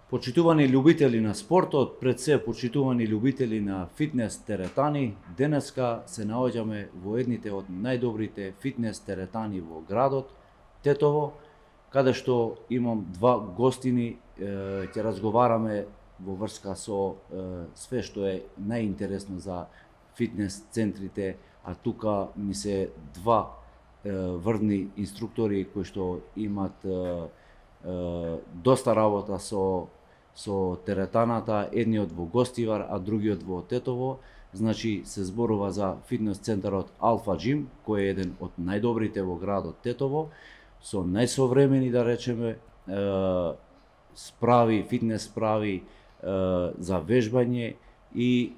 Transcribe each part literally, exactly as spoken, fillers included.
Почитувани љубители на спортот, пред се почитувани љубители на фитнес теретани, денеска се наоѓаме во едните од најдобрите фитнес теретани во градот, Тетово, каде што имам два гостини, ќе разговараме во врска со све што е најинтересно за фитнес центрите, а тука ми се два врвни инструктори кои што имат доста работа со со теретаната, едниот во Гостивар, а другиот во Тетово. Значи се зборува за фитнес центарот Алфа Джим, кој е еден од најдобрите во градот Тетово, со најсовремени, да речеме, справи, фитнес справи за вежбање и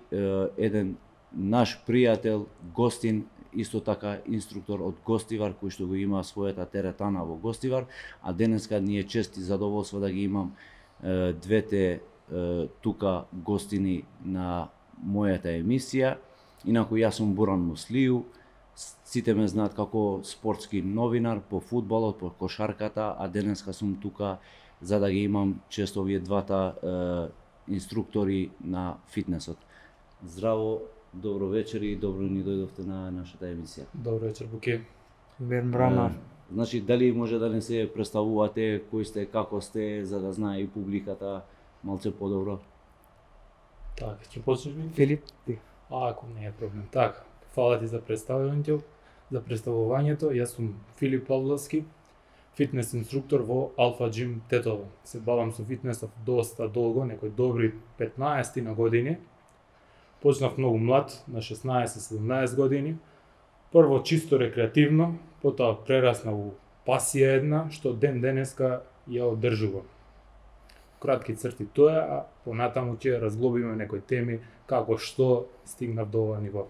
еден наш пријател, гостин, исто така инструктор од Гостивар, кој што го има својата теретана во Гостивар, а денеска ни е чест и задоволство да ги имам двете тука гостини на мојата емисија. Инаку јас сум Буран Муслију, сите ме знаат како спортски новинар по фудбалот, по кошарката, а денеска сум тука за да ги имам често овие двата е, инструктори на фитнесот. Здраво, добро вечер и добро ни дојдовте на нашата емисија. Добро вечер, Буке. Бен Брама. Значи, дали може да не се представувате, кои сте, како сте, за да знае и публиката малце подобро? Так, ќе почнеш ми? Филип, ти. А, ако не е проблем. Так, фала ти за представувањето, за представувањето. Јас сум Филип Павловски, фитнес инструктор во Алфа Джим Тетово. Се бавам со фитнесот доста долго, некои добри петнаесет на години. Почнав многу млад, на шеснаесет-седумнаесет години. Прво чисто рекреативно, потоа прерасна у пасија една, што ден денеска ја одржувам. Кратки црти тоа, а понатаму ќе разглобиме некои теми, како што стигнав до ова ниво.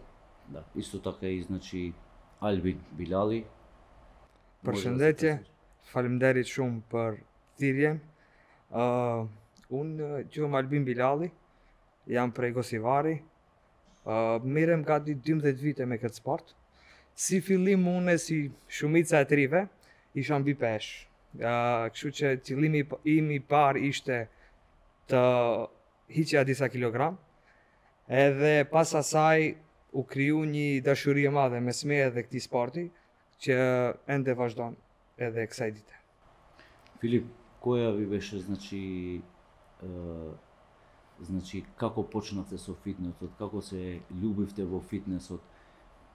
Да, исто така и значи Альбин Билали. Përshëndetje, faleminderit shumë për thirrjen. Uh, unë quhem Albin Bilali, jam prej Gosivari. Uh, Mirem gati dymbëdhjetë vite me këtë sport. Si fillim unë si shumica e trive, isha mbi peshë. Uh, kështu që qëllimi im i parë ishte të hiqja disa kilogram. Edhe pas asaj u kriju një dashuri e madhe mes meje dhe këtij sporti, që ende vazhdon edhe kësaj dite. Филип, која ви беше, значи, е, значи како почнавте со фитнесот, како се љубивте во фитнесот,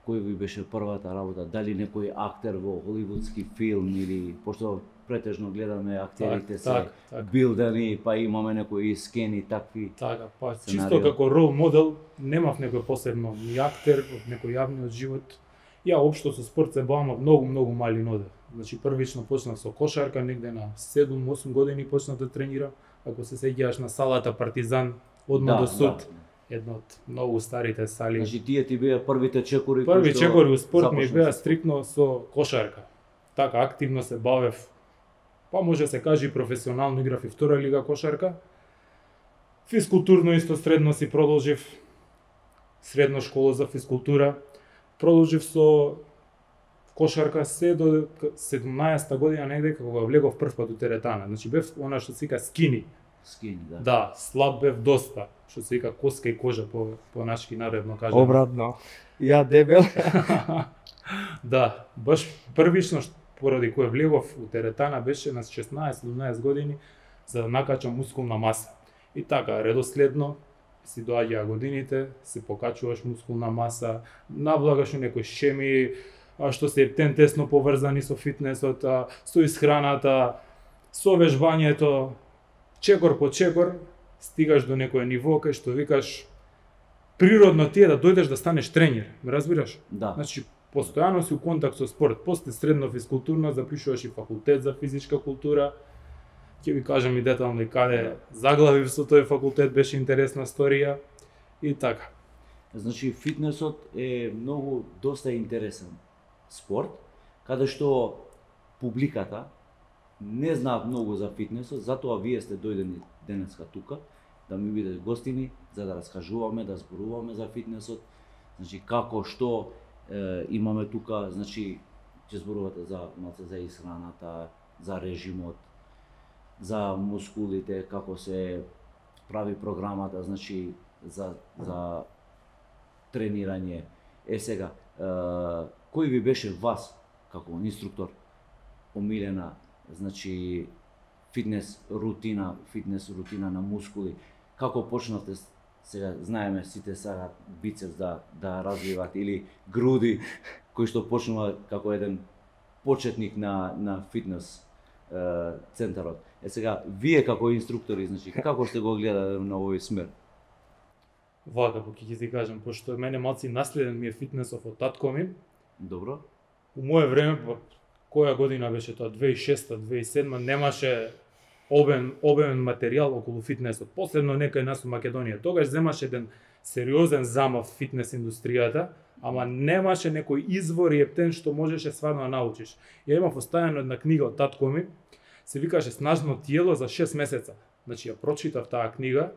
кој ви беше првата работа, дали некој актер во холивудски филм или пошто претежно гледаме актерите Так, се так, так. билдани, па имаме некои скени такви. Така, па сценарио. чисто како рол модел, немав некој посебно ни актер од некој јавниот живот. Ја општо со спорт се бавам од многу многу мали ноде. Значи првично почнав со кошарка, негде на седум-осум години почнав да тренирам. Ако се сеќаваш на салата Партизан, одма Да, до суд, да. една од многу старите сали. Значи тие ти беа првите чекори кои Први што чекори у спорт ми започна беа со спорт. стриктно со кошарка. Така активно се бавев. Па може да се каже и професионално играв и втора лига кошарка. Физкултурно исто средно си продолжив. Средна школа за физкултура. Продолжив со кошарка се до седумнаесета година негде кога влегов прв пат у теретана. Значи бев она што се вика скини. скини, да. Да, слаб бев доста. Што се вика коска и кожа по по нашки народно кажано. Obratno. Ja debel. Да, баш првично што- поради кое влегов у теретана беше на шеснаесет-седумнаесет години за да накачам мускулна маса. И така, редоследно си доаѓаа годините, се покачуваш мускулна маса, навлагаш у некои шеми, а, што се ептен тесно поврзани со фитнесот, а, со исхраната, со вежбањето, чекор по чекор, стигаш до некое ниво кај што викаш природно ти е да дојдеш да станеш тренер, ме разбираш? Да. Значи, постојано си у контакт со спорт, после средно физкултурно запишуваш и факултет за физичка култура. Ќе ви кажам и детално и каде заглавив со тој факултет, беше интересна сторија и така. Значи фитнесот е многу доста интересен спорт, каде што публиката не знаат многу за фитнесот, затоа вие сте дојдени денеска тука да ми бидете гостини за да раскажуваме, да зборуваме за фитнесот, значи како што е, имаме тука, значи ќе зборувате за малце за исхраната, за режимот. за мускулите, како се прави програмата, значи за за тренирање. Е сега, е, кој ви беше вас како инструктор омилена, значи фитнес рутина, фитнес рутина на мускули? Како почнавте? Сега знаеме сите сакаат бицепс да да развиваат или груди, кој што почнува како еден почетник на на фитнес е, центарот. Е сега, вие како инструктори, значи како сте го гледале на овој смер? Вака, ќе ќе ти кажам, пошто мене малци наследен ми е фитнесов од татко ми. Добро. У мое време, па, која година беше тоа, две илјади и шеста, две илјади и седма, немаше обем обемен материјал околу фитнесот. Посебно некај нас у Македонија. Тогаш земаше еден сериозен замав фитнес индустријата, ама немаше некој извор и ептен што можеше стварно да научиш. Ја имав оставено една книга од татко ми, се викаше Снажно тиело за шест месеца. Значи ја прочитав таа книга,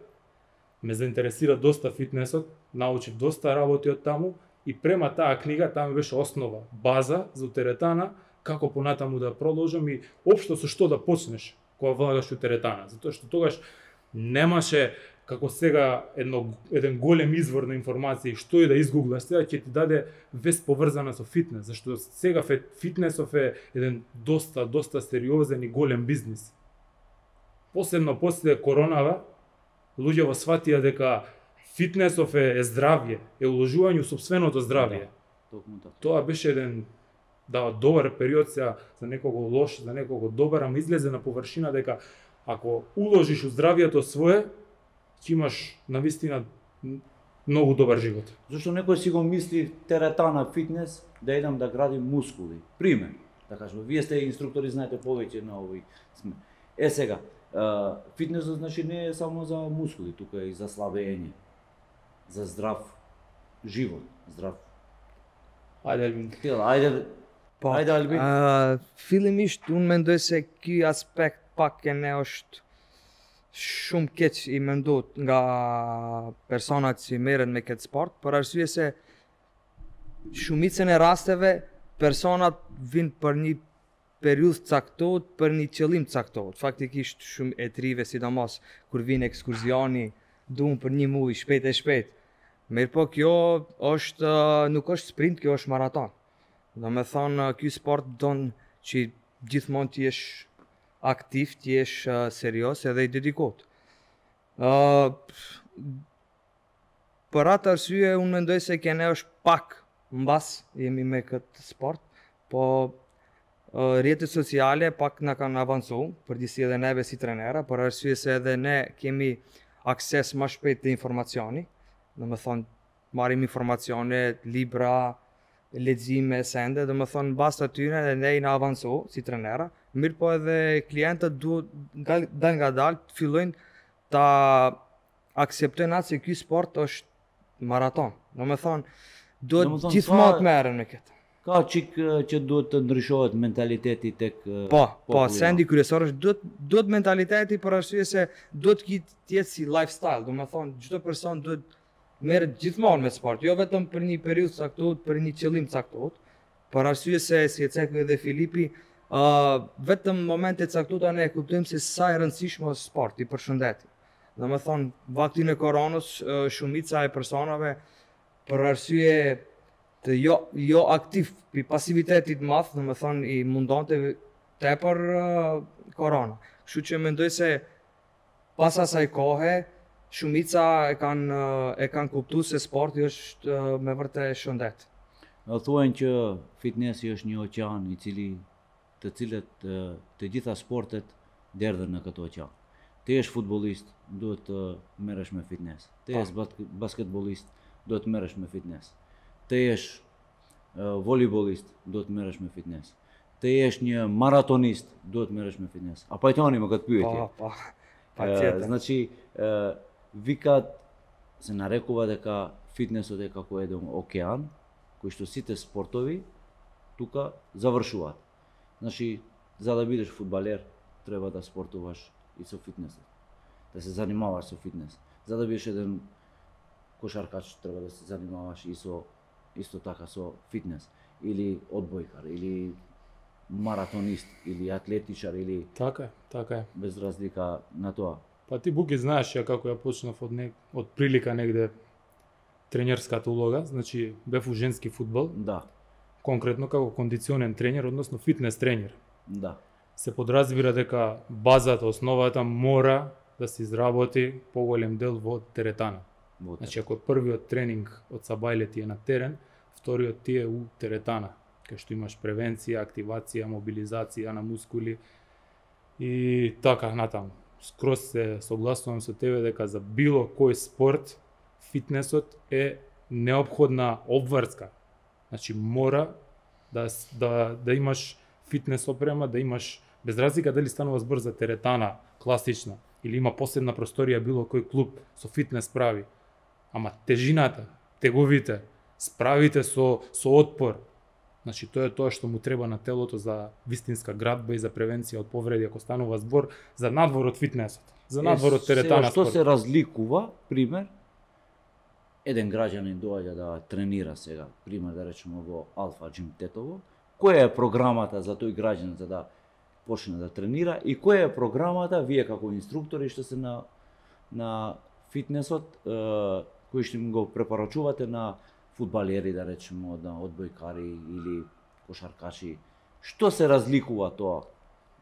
ме заинтересира доста фитнесот, научив доста работи од таму и према таа книга таму беше основа, база за теретана, како понатаму да продолжам и општо со што да почнеш кога влагаш у теретана, затоа што тогаш немаше како сега едно еден голем извор на информации што и да изгуглаш, сега ќе ти даде вест поврзана со фитнес, зашто сега фитнесов е еден доста доста сериозен и голем бизнис. Посебно после коронава луѓето сватија дека фитнесов е, е здравје, е уложување у сопственото здравје. Да, тоа беше еден да добар период сега за некого лош, за некого добар, ама излезе на површина дека ако уложиш у здравјето свое, ќе имаш навистина многу добар живот. Зашто некој си го мисли теретана фитнес да идам да градим мускули. Пример, да кажем, вие сте инструктори, знаете повеќе на овој сме. Е сега, Uh, фитнесот значи не е само за мускули, тука е и за слабење, за здрав живот, здрав. Ајде, Албин. Ајде, Pa, ајде Албин. uh, fillimisht unë mendoj se ky aspekt pak e ne është shumë keq i menduar nga personat që merren me këtë sport, për arsye se shumicën e rasteve personat vinë për një periudhë caktohet, për një qëllim caktohet. Faktikisht shumë e trive, sidomos kur vinë ekskursioni, duan për një muaj shpejt e shpejt. Mirë po kjo është, nuk është sprint, kjo është maraton. Do me thonë, ky sport don që gjithmonë të jesh aktiv, të jesh uh, serios edhe i dedikot. Uh, për atë arsye, unë mendoj se kene është pak mbas jemi me këtë sport, po uh, rrjetet sociale pak na kanë avancu, përgjithësi edhe neve si trenera, për arsye se edhe ne kemi akses më shpejt të informacioni, do me thonë, marrim informacione, libra, lexime, sende, do me thonë, basta tyre dhe ne i na avancu si trenera, mirë po edhe klientët duhet dal nga dal të fillojnë ta akseptojnë atë se ky sport është maraton. Do me thonë, duhet gjithmonë të merren me këtë. Ka çik që duhet të ndryshohet mentaliteti tek Po, po, sendi kryesor është duhet duhet mentaliteti për arsye se duhet të jetë si lifestyle, do me thonë, çdo person duhet merret gjithmonë me sport, jo vetëm për një periudhë caktuar, për një qëllim caktuar, për arsye se si e cekë edhe Filipi, uh, vetëm momente caktuara ne e kuptojmë se sa e rëndësishme është sporti për shëndetin. Do me thonë, vaktin e koronës, uh, shumica e personave për arsye të jo jo aktiv, pi pasivitetit madh, do me thonë i mundonte tepër uh, korona. Kështu që mendoj se pas asaj kohe shumica e kanë e kanë kuptuar se sporti është me vërtet shëndet. Thuajnë që fitnessi është një oqean i cili të cilët të gjitha sportet derdhen në këtë oqean. Ti je futbollist, duhet të merresh me fitness. Ti je basketbollist, duhet të merresh me fitness. Ti je volejbolist, duhet të merresh me fitness. Ti je një maratonist, duhet të merresh me fitness. A pajtoni më këtë pyetje? Po, po. Patjetër. Значи, викаат се нарекува дека фитнесот е како еден океан, кој што сите спортови тука завршуваат. Значи, за да бидеш фудбалер, треба да спортуваш и со фитнесот. Да се занимаваш со фитнес. За да бидеш еден кошаркач, треба да се занимаваш и со исто така со фитнес или одбојкар или маратонист или атлетичар или Така е, така е. без разлика на тоа. Па ти Буки знаеш ја како ја почнав од не, од прилика негде тренерската улога, значи бев у женски фудбал, Да, конкретно како кондиционен тренер, односно фитнес тренер. да. Се подразбира дека базата, основата мора да се изработи поголем дел во теретана. Вот. Значи ако првиот тренинг од Сабајле ти е на терен, вториот ти е у теретана, кај што имаш превенција, активација, мобилизација на мускули и така натаму. Скроз се согласувам со тебе дека за било кој спорт фитнесот е неопходна обврска. Значи мора да да да имаш фитнес опрема, да имаш без разлика дали станува збор за теретана класична или има посебна просторија било кој клуб со фитнес прави. Ама тежината, теговите, справите со со отпор. Значи тоа е тоа што му треба на телото за вистинска градба и за превенција од повреди ако станува збор за надвор од фитнесот. За надвор од теретана Што спорт. се разликува, пример, еден граѓанин доаѓа да тренира сега, пример да речеме во Алфа Джим Тетово, која е програмата за тој граѓанин за да почне да тренира и која е програмата вие како инструктори што се на на фитнесот е, кој што им го препорачувате на фудбалери да речеме, на одбојкари или кошаркачи. Што се разликува тоа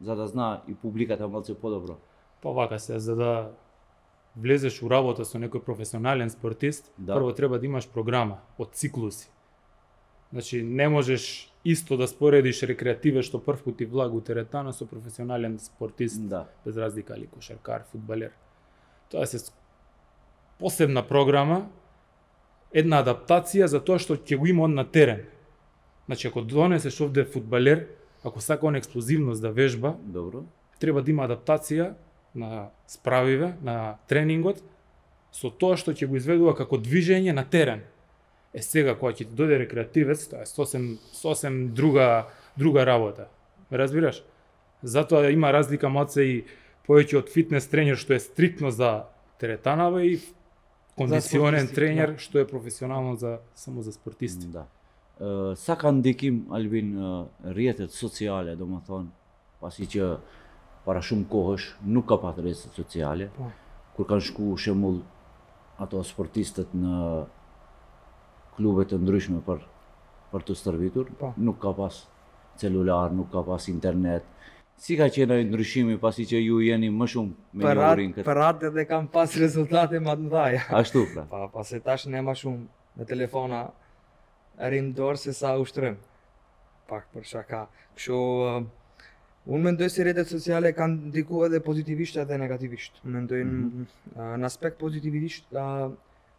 за да знае и публиката малце подобро? Па вака се, за да влезеш у работа со некој професионален спортист, Да. прво треба да имаш програма од циклуси. Значи не можеш исто да споредиш рекреативе што прв пат ти влага у теретана со професионален спортист, Да. без разлика ли кошаркар, фудбалер. Тоа се посебна програма, една адаптација за тоа што ќе го има он на терен. Значи ако донесеш овде фудбалер, ако сака он експлозивност да вежба, Добро. треба да има адаптација на справиве, на тренингот, со тоа што ќе го изведува како движење на терен. Е сега кога ќе ти дојде рекреативец, тоа е сосем сосем друга друга работа. Ме разбираш? Затоа има разлика малце и повеќе од фитнес тренер што е стриктно за теретанава и кондиционен спортисти, тренер да. што е професионално за само за спортисти. Да. Е, сакам диким Албин е, rrjetet sociale, domethënë, pasi që para shumë kohësh nuk ka pat rrjetet sociale, Po. kur kanë shku shembull ato sportistët në klube të ndryshme për për të stërvitur, Po. nuk ka pas celular, nuk ka pas internet. Si ka qenë ai ndryshimi pasi që ju jeni më shumë me Për njohurin atë këtë? për atë edhe kam pas rezultate më të mëdha. Ashtu pra. Pa, pa se tash ne ma shumë me telefona rrim dorë se sa ushtrim. Pak për shaka. Kështu uh, unë mendoj se rrjetet sociale kanë ndikuar edhe pozitivisht edhe negativisht. Unë mendoj Mhm. uh, në aspekt pozitivisht uh,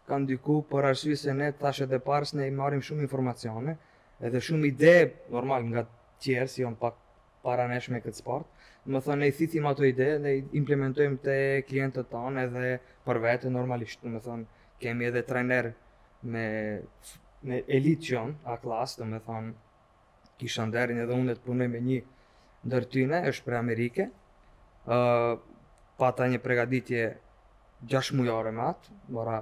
kanë ndiku për arsye se ne tash edhe parës ne i marrim shumë informacione, edhe shumë ide normal nga tjerë si janë pak paranesh me këtë sport. Më thënë, ne i thithim ato ide dhe i implementojmë te klientët tanë edhe për vete normalisht. Më thënë, kemi edhe trener me, me elit që janë, a klasë, dhe me thënë, kisha nderin edhe unë të punoj me një ndër tyne, është për Amerike. Uh, pata një pregaditje gjashtë mujare me atë, mora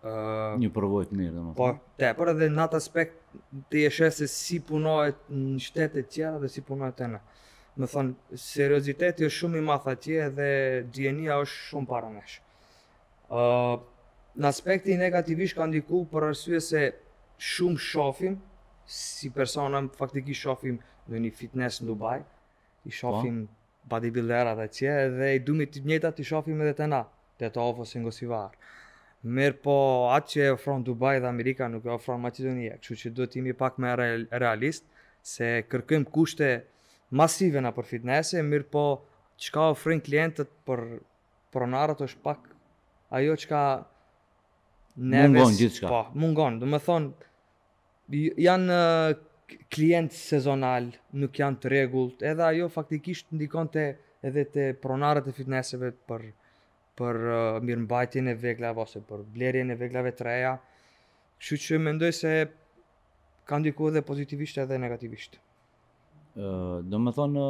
uh, Një përvojë të mirë, domethënë. po, tepër edhe në atë aspekt ti e sheh se si punohet në shtetet tjera dhe si punohet e në. Më thonë, serioziteti është shumë i madh atje dhe dienia është shumë para nesh. Uh, në aspekti negativisht ka ndiku për arsye se shumë shohim, si persona faktikisht shohim në një fitness në Dubai, i shohim bodybuilderat atje dhe i dumi të njëjtat i shohim edhe te na, te to ose në Gosivar. Mirë po atë që e ofron Dubai dhe Amerika nuk e ofron Maqedonia, kështu që duhet jemi pak më real, realist, se kërkojmë kushte masive na për fitnesse, mirë po çka ofrojnë klientët për pronarët është pak ajo çka Mungon gjithçka. Po, mungon. Do të thonë j- janë uh, klient sezonal, nuk janë të rregullt, edhe ajo faktikisht ndikon te edhe te pronarët e fitnesseve për për uh, mirëmbajtjen e veglave ose për blerjen e veglave të reja. Kështu që mendoj se ka ndikuar edhe pozitivisht edhe negativisht. Ë, do më thonë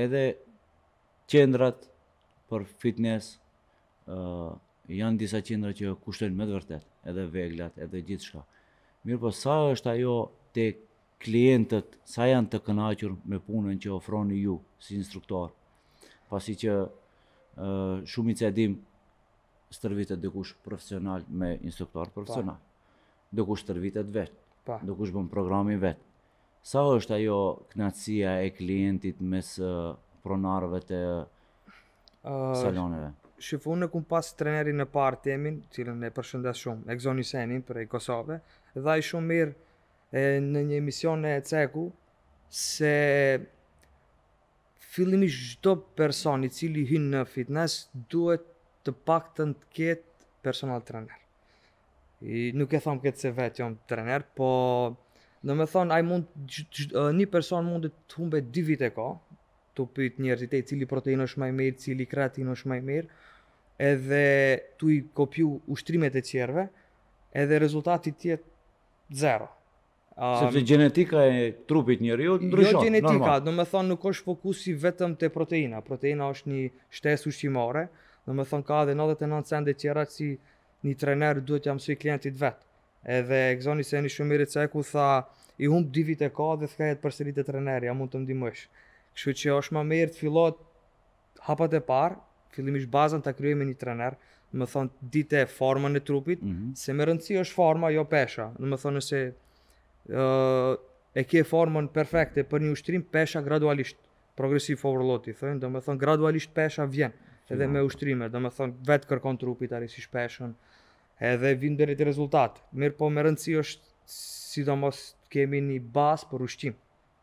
edhe qendrat për fitness ë janë disa qendra që kushtojnë me të vërtet, edhe veglat, edhe gjithçka. Mirë po sa është ajo tek klientët sa janë të kënaqur me punën që ofroni ju si instruktor, pasi që uh, shumica e dim stërvitet dikush profesional me instruktor profesional, dikush stërvitet vet, Pa. dikush bën programin vet. Sa është ajo kënaqësia e klientit mes uh, pronarëve të Uh, saloneve? Shif, unë kum pas trenerin e parë temin, cilën e përshëndes shumë, Egzoni Senin prej Kosove, dhe ai shumë mirë e, në një emision e ceku se fillimisht çdo person i cili hyn në fitness duhet të paktën të ketë personal trainer. I nuk e them këtë se vetë jam trener, po do me thonë ai mund gj- gj- një person mund të humbe dy vite ka, tu pyet njerëzit e cili protein është më i mirë, cili kreatin është më i mirë, edhe tu i kopju ushtrimet e qerve, edhe rezultati tjetë zero. Um, Sepse gjenetika e trupit njeriu ndryshon. Jo gjenetika, normal. do me thonë nuk është fokusi vetëm te proteina. Proteina është një shtesë ushqimore, do me thonë ka edhe nëntëdhjetë e nëntë sende tjera që një trener duhet ja mësoj klientit vet. Edhe Egzoni se një shumë mirë ceku tha i humb dy vite ka dhe thkajet përsëri te treneri, ja mund të ndihmosh. Kështu që është më mirë të fillohet hapat e parë, fillimisht bazën ta krijoj me një trener, do me thonë dite formën e trupit, Mhm. se me rëndësi është forma, jo pesha. Do me thonë nëse uh, e ke formën perfekte për një ushtrim, pesha gradualisht, progressive overload i thënë, do me thonë gradualisht pesha vjen, edhe me ushtrime, do me thonë vetë kërkon trupit arisish peshën, edhe vin deri te rezultat. Mirë po me rëndësi është sidomos kemi një bazë për ushqim.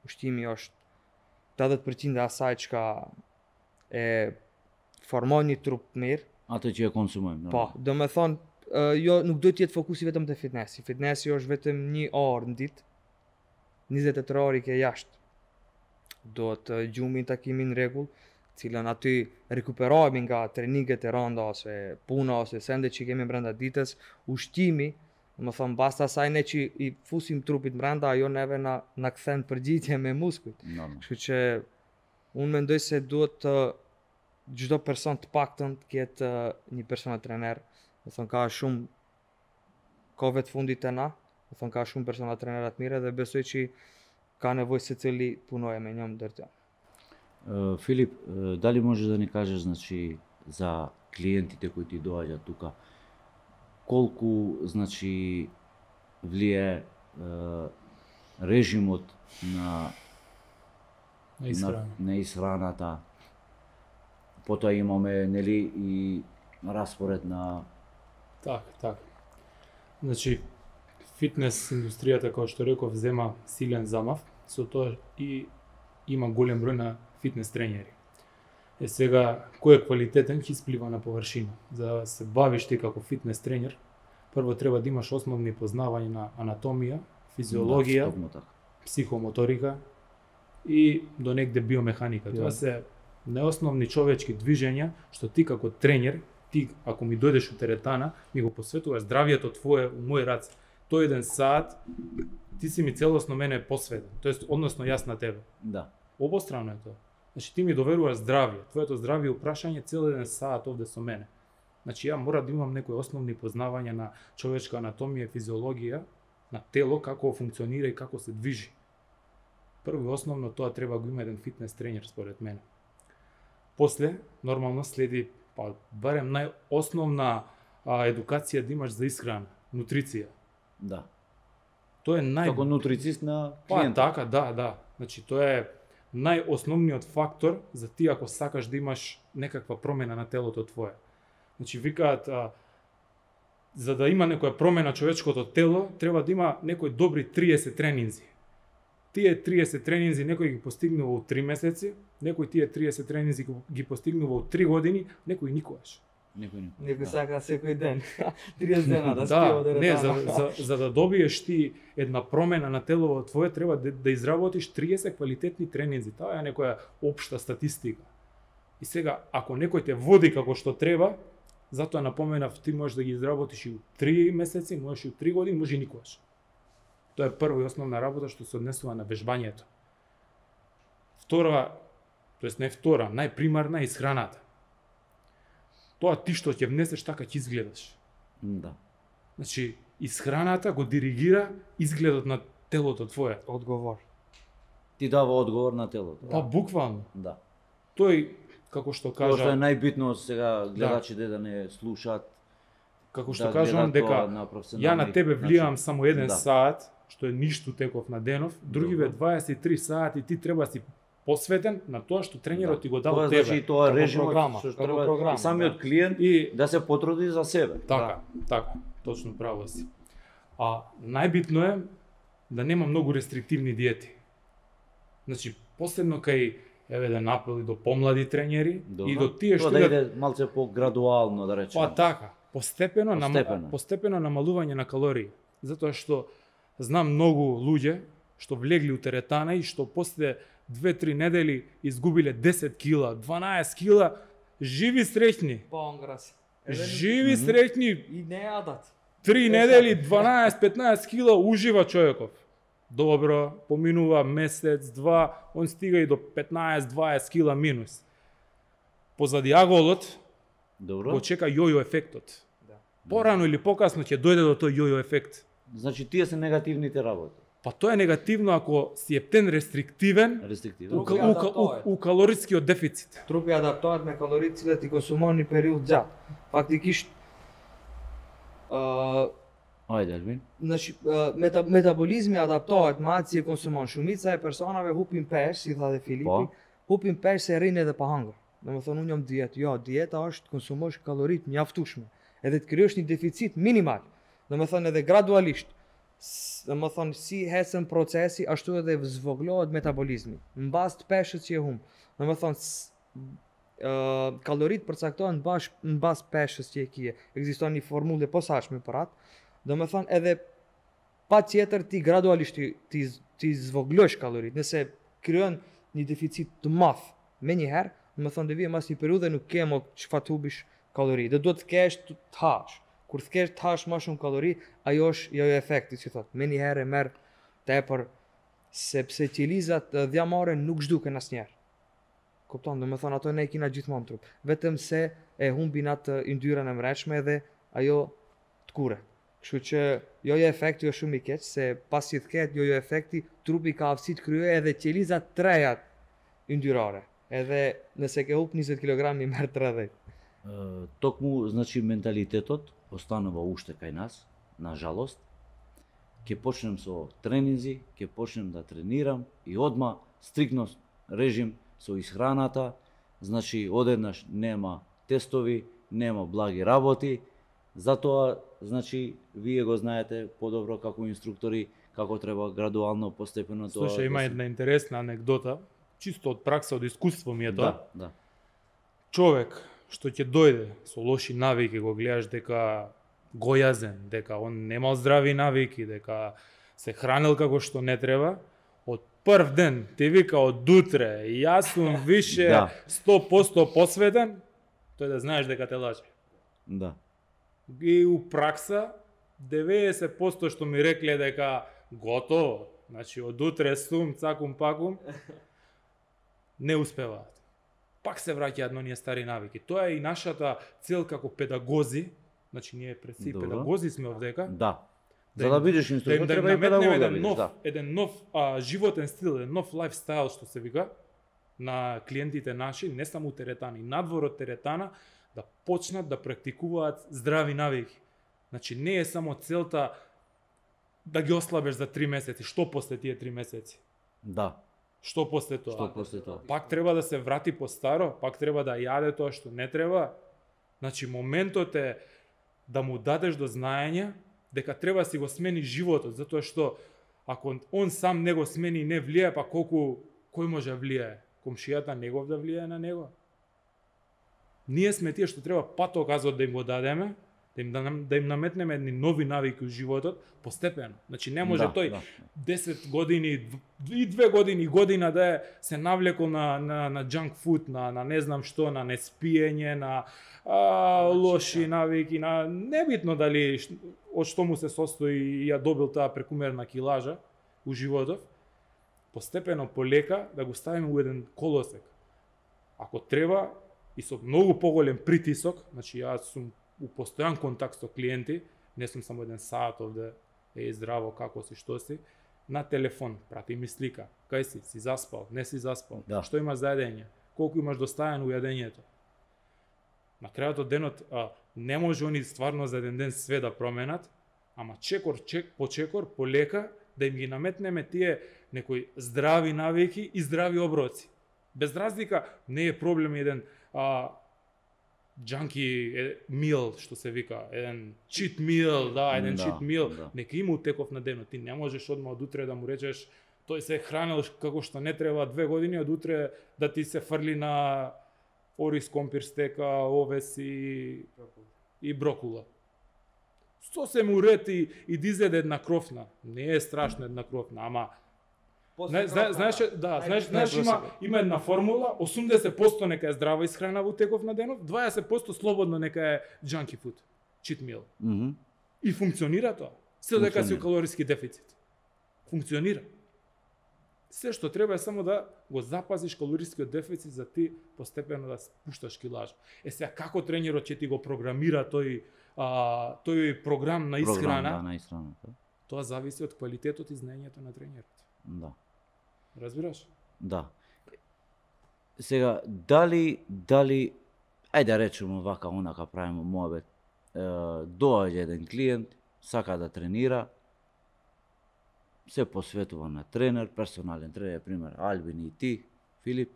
Ushqimi është tetëdhjetë përqind e asaj çka e formon një trup mirë. Atë që e konsumojmë. Po, normal. do me thonë, uh, jo, nuk duhet jetë fokusi vetëm te fitnessi. Fitnessi është vetëm një orë në ditë, njëzet e tre orë i ke jashtë. Do të gjumin takimin rregull, cilën aty rekuperohemi nga treninget e rënda ose puna ose sende që kemi brenda ditës, ushqimi, do me thonë basta asaj ne që i fusim trupit brenda, ajo neve na na kthen përgjigje me muskujt. Normal. Kështu që unë mendoj se duhet të çdo person të paktën të ketë uh, një personal trener. Do thonë ka shumë kohëve të fundit të na, do thonë ka shumë personal trenera të mirë dhe besoj që ka nevojë secili punoje me njëm ndër të. Uh, Filip, uh, da li možeš da ni kažeš, znači, za klijentite koji ti dođa тука, колку, значи, влие uh, режимот на На исхрана. на, на исхраната. Потоа имаме, нели, и распоред на Така, така. Значи, фитнес индустријата, како што реков, зема силен замав, со тоа и има голем број на фитнес тренери. Е сега, кој е квалитетен, ќе исплива на површина. За да се бавиш ти како фитнес тренер, прво треба да имаш основни познавања на анатомија, физиологија, Да, токму така. психомоторика и до негде биомеханика. Тоа се неосновни човечки движења што ти како тренер, ти ако ми дојдеш у теретана, ми го посветуваш здравието твое у мој раце. Тој еден саат ти си ми целосно мене посветен, тоест односно јас на тебе. Да. Обострано е тоа. Значи ти ми доверуваш здравје, твоето здравје упрашање цел еден саат овде со мене. Значи ја мора да имам некои основни познавања на човечка анатомија, физиологија, на тело, како функционира и како се движи. Прво и основно тоа треба го има еден фитнес тренер според мене. После, нормално следи, па барем најосновна а, едукација да имаш за исхрана, нутриција. Да. Тоа е нај... Како нутрицист на Па клиента. така, да, да. Значи тоа е најосновниот фактор за ти ако сакаш да имаш некаква промена на телото твое. Значи викаат а, за да има некоја промена човечкото тело, треба да има некои добри триесет тренинзи. Тие триесет тренинзи некој ги постигнува у три месеци, некој тие триесет тренинзи ги постигнува у три години, некој никогаш. Некој не. Некој Да. сака секој ден, триесет дена да Да, спива да не, за, за, за да добиеш ти една промена на телото твое, треба да, да изработиш триесет квалитетни тренинзи. Тоа е некоја општа статистика. И сега, ако некој те води како што треба, затоа напоменав, ти можеш да ги изработиш и у три месеци, можеш и у три години, може и никогаш. Тоа е прва и основна работа што се однесува на вежбањето. Втора, тоест не втора, најпримарна е исхраната. Тоа ти што ќе внесеш, така ќе изгледаш. Да. Значи, исхраната го диригира изгледот на телото твое. Одговор. Ти дава одговор на телото. Па буквално. Да. Тој, како што Тоа што е кажа, најбитно сега гледачите да не слушаат. како што да кажувам гледат тоа дека на ја професионални на тебе влијам начин. само еден Да. саат, што е ништо теков на денов, другиве Добро. дваесет и три сати ти треба да си посветен на тоа што тренерот Да. ти го дал Тоа тебе. значи тоа како режимот програма, што како треба програма, и самиот да. клиент И да се потруди за себе. така, така, точно право си. А најбитно е да нема многу рестриктивни диети. Значи, последно кај еве да напели до помлади тренери Добро. и до тие што Тоа да идат иде малце по-градуално да речеме. па така, постепено, нама- Постепено. постепено намалување на калории. Затоа што знам многу луѓе што влегли у теретана и што после две-три недели изгубиле десет кила, дванаесет кила, живи среќни. Понграс. Живи среќни, И не јадат. три недели, дванаесет-петнаесет кила ужива човеков. Добро, поминува месец, два, он стига и до петнаесет-дваесет кила минус. Позади аголот Добро. го чека јојо ефектот. Да. Порано или покасно ќе дојде до тој јојо ефект. Значи тие се негативните работи. Па тоа е негативно ако си ептен рестриктивен Рестриктивно. у, Други у, у, адаптојат. у калорискиот дефицит. Трупи адаптојат на калориците и консумовни период џат. Фактики ш- а, Ајде, Елвин. значи а, мета, метаболизми адаптојат маци и консумон. Шумица е персонаве хупин пеш, си даде Филипи. Па. Хупин пеш се рине да пахангар. Да ме thonë unë jam dietë. Jo, dieta është konsumosh kalorit mjaftueshme. Edhe të krijosh një deficit minimal. Do me thonë edhe gradualisht. S- Do me thonë si hecën procesi, ashtu edhe zvoglohet metabolizmi. Mbas të peshës që e hum. Do me thonë s- ë kalorit përcaktohen bash mbas peshës që e kije. Ekziston një formullë e posaçme për atë. Do me thonë edhe pa tjetër ti gradualisht ti, ti, z- ti zvoglosh kalorit. Nëse krijon një deficit të madh me një herë, do me thonë dhe vije mas një periudhe nuk ke mo çfarë të hubish kalori. Dhe do të kesh të të hash. Kur të kesh të hash më shumë kalori, ajo është jojo efekti, si thot. Me një herë e merr tepër sepse qelizat ë, dhjamare nuk zhduken asnjëherë. Kupton, do me thonë ato ne i kina gjithmonë trup. Vetëm se e humbin atë yndyrën e mreçme dhe ajo të kure. Kështu që jojo efekti është shumë i keq se pasi të ketë jojo efekti, trupi ka aftësi të kryejë edhe qelizat trejat yndyrare. Edhe nëse ke hup njëzet kilograma i merr tridhjetë. Е, Токму, значи, менталитетот останува уште кај нас, на жалост. Ќе почнем со тренинзи, ќе почнем да тренирам и одма стрикно режим со исхраната, значи одеднаш нема тестови, нема благи работи, затоа, значи, вие го знаете подобро како инструктори, како треба градуално, постепено тоа. Слушај, има да се- една интересна анегдота, чисто од пракса, од искуство ми е тоа. Да, да. Човек што ќе дојде со лоши навики, го гледаш дека гојазен, дека он немал здрави навики, дека се хранел како што не треба, од прв ден ти вика од утре, јас сум више Да. сто посто посветен, тој да знаеш дека те лаже. Да. И у пракса деветдесет посто што ми рекле дека готово, значи од утре сум цакум пакум, не успеваат. Пак се враќаат на оние стари навики. Тоа е и нашата цел како педагози, значи ние пред си Добро. педагози сме овдека, Да. Да За им- да бидеш да им, инструктор, да им треба и наметнеме педагог да еден бидеш, нов, да. еден нов а, животен стил, еден нов лайфстайл што се вика на клиентите наши, не само у теретана, и надвор од теретана, да почнат да практикуваат здрави навики. Значи не е само целта да ги ослабеш за три месеци, што после тие три месеци? Да. Што после тоа? Што после тоа? Пак треба да се врати по старо, пак треба да јаде тоа што не треба. Значи моментот е да му дадеш до знаење дека треба да си го смени животот, затоа што ако он сам не го смени и не влијае, па колку кој може да влијае? Комшијата негов да влијае на него? Ние сме тие што треба патоказот да им го дадеме, да им, да, нам- да им наметнеме едни нови навики у животот постепено. Значи не може Да, тој да. десет години дв- и две години година да е се навлекол на на на junk food, на на не знам што, на неспиење, на а, лоши навики, на небитно дали ш- од што му се состои и ја добил таа прекумерна килажа у животов. Постепено полека да го ставиме у еден колосек. Ако треба и со многу поголем притисок, значи јас сум у постојан контакт со клиенти, не сум само еден саат овде, е здраво, како си, што си, на телефон, прати ми слика. Кај си, си заспал, не си заспал, Да. што имаш за едење, колку имаш доставено у јадењето. На крајот од денот а, не може они стварно за еден ден све да променат, ама чекор чек по чекор, полека да им ги наметнеме тие некои здрави навики и здрави оброци. Без разлика не е проблем еден а, джанки е, мил, што се вика, еден чит мил, да, еден Да, чит мил, да. нека има утеков на денот. Ти не можеш одма од утре да му речеш тој се хранел како што не треба две години, од утре да ти се фрли на ориз компир стека, овес и, и брокула. Сосем уред и, и да изеде една крофна. Не е страшно една крофна, ама Не, зна, знаеш, да, знаеш, знаеш има има една формула, осумдесет проценти нека е здрава исхрана во теков на денот, дваесет проценти слободно нека е junky food, cheat meal. Мгм. И функционира тоа. Се дека си у Функционира. калориски дефицит. Функционира. Се што треба е само да го запазиш калорискиот дефицит за ти постепено да спушташ килажа. Е сега како тренерот ќе ти го програмира тој а, тој програм на Програм, исхрана, да, на исхраната. тоа зависи од квалитетот и знаењето на тренерот. Да. Разбираш? Да. Сега, дали, дали, ајде да речеме вака, онака правиме моабет, е, доаѓа еден клиент, сака да тренира, се посветува на тренер, персонален тренер, пример, Албин и ти, Филип,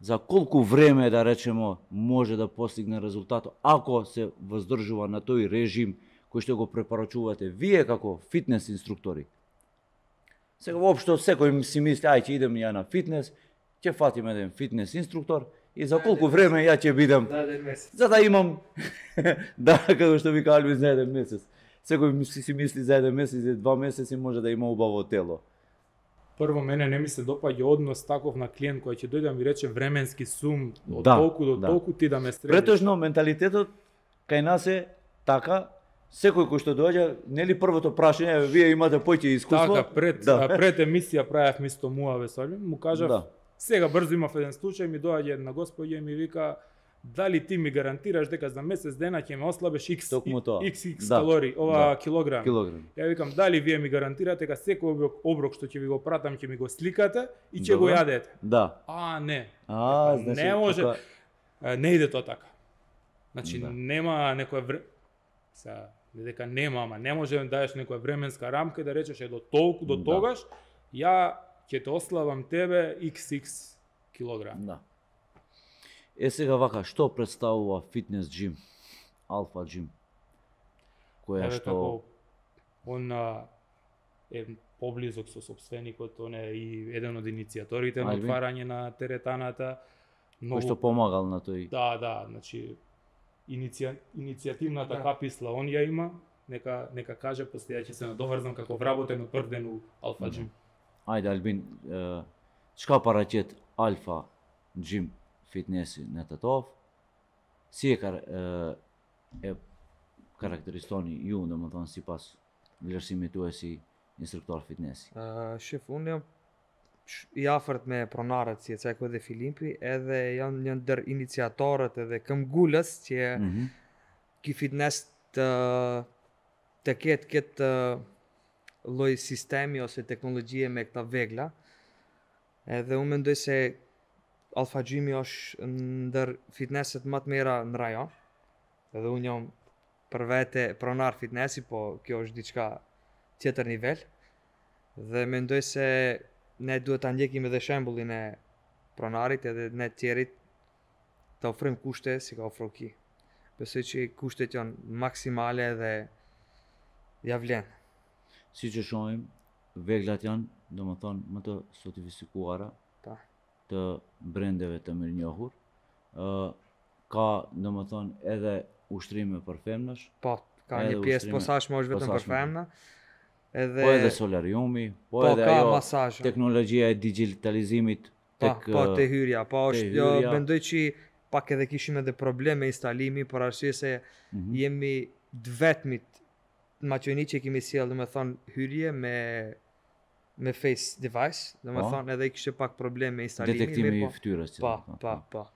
за колку време, да речеме, може да постигне резултат, ако се воздржува на тој режим кој што го препорачувате вие како фитнес инструктори. Сега воопшто секој си мисли, ај ќе идем ја на фитнес, ќе фатим еден фитнес инструктор и за колку време ја ќе бидам, За еден месец. за да имам, да, како што вика Албин, за еден месец. Секој мисли, си мисли за еден месец, за два месеци може да има убаво тело. Прво, мене не ми се допаѓа однос таков на клиент кој ќе дојде да ми рече временски сум од Да, толку до да. толку ти да ме средиш. Претежно менталитетот кај нас е така, секој кој што доаѓа, нели првото прашање е, вие имате поќе искуство? Така, пред, да. а, пред емисија правев мисто Муаве Солим, му кажав, Да. сега брзо имав еден случај, ми доаѓа една господја и ми вика, дали ти ми гарантираш дека за месец дена ќе ме ослабеш X, Токму тоа. X, X Да, калории, ова да. килограми. Килограм. Ја викам, дали вие ми гарантирате дека секој оброк, оброк што ќе ви го пратам, ќе ми го сликате и ќе го Добро. јадете. Да. А, не. А, Па, значи, не може. тука- Е, не иде тоа така. Значи, Да. нема некоја вре... Сега, не дека нема, ама не може да дадеш некоја временска рамка и да речеш е до толку, до Да. тогаш, ја ќе те ослабам тебе икс икс килограм. Да. Е сега вака, што представува фитнес джим? Алфа джим? Која Еве што како он а, е поблизок со собственикот, он е и еден од иницијаторите на Албин? отварање на теретаната. кој што помагал на тој. Да, да, значи иниција, иницијативната Да. каписла он ја има, нека нека каже, после ја ќе се надоврзам како вработен од прв ден у Алфа Джим. Ајде Албин, е, çka paraqet Alfa Gym Fitness në Tetov? Si e, kar, e, e karakteristoni ju, dhe më thonë, si pas vlerësimit tuaj si instruktor fitnessi? Uh, shef, unë jam sh- i afërt me pronarët si e Ceko dhe Filipi, edhe janë një ndër iniciatorët edhe këmbgulës që Mhm. ki fitness të të ketë këtë lloj sistemi ose teknologjie me këta vegla. Edhe unë mendoj se Alpha Gymi është ndër fitnesset më të mira në rajon. Edhe unë jam për vete pronar fitnessi, po kjo është diçka tjetër nivel. Dhe mendoj se ne duhet ta ndjekim edhe shembullin e pronarit edhe ne të tjerit të ofrojmë kushte si ka ofru ki. Besoj që kushtet janë maksimale dhe ja vlen. Si që shohim, veglat janë, do më thonë, më të sotifisikuara, Pa. të brendeve të mirënjohur. Ë, ka, do më thonë, edhe ushtrime për femnash, Po, ka Edhe një pjesë ushtrime posaçme është vetëm për posaçme. femna. Edhe po edhe solariumi, po, po edhe ka ajo masazh. teknologjia e digitalizimit Po, tek po ë, te hyrja, po te është jo hyrja. mendoj që pak edhe kishim edhe probleme me instalimi, por arsye se mhm. jemi të vetmit maqeni që kemi sjell, do të thonë hyrje me me face device, do të Po. thonë edhe kishte pak probleme me instalimin, detektimi mirë i po. fytyrës. që Pa, do të thonë, pa, pa.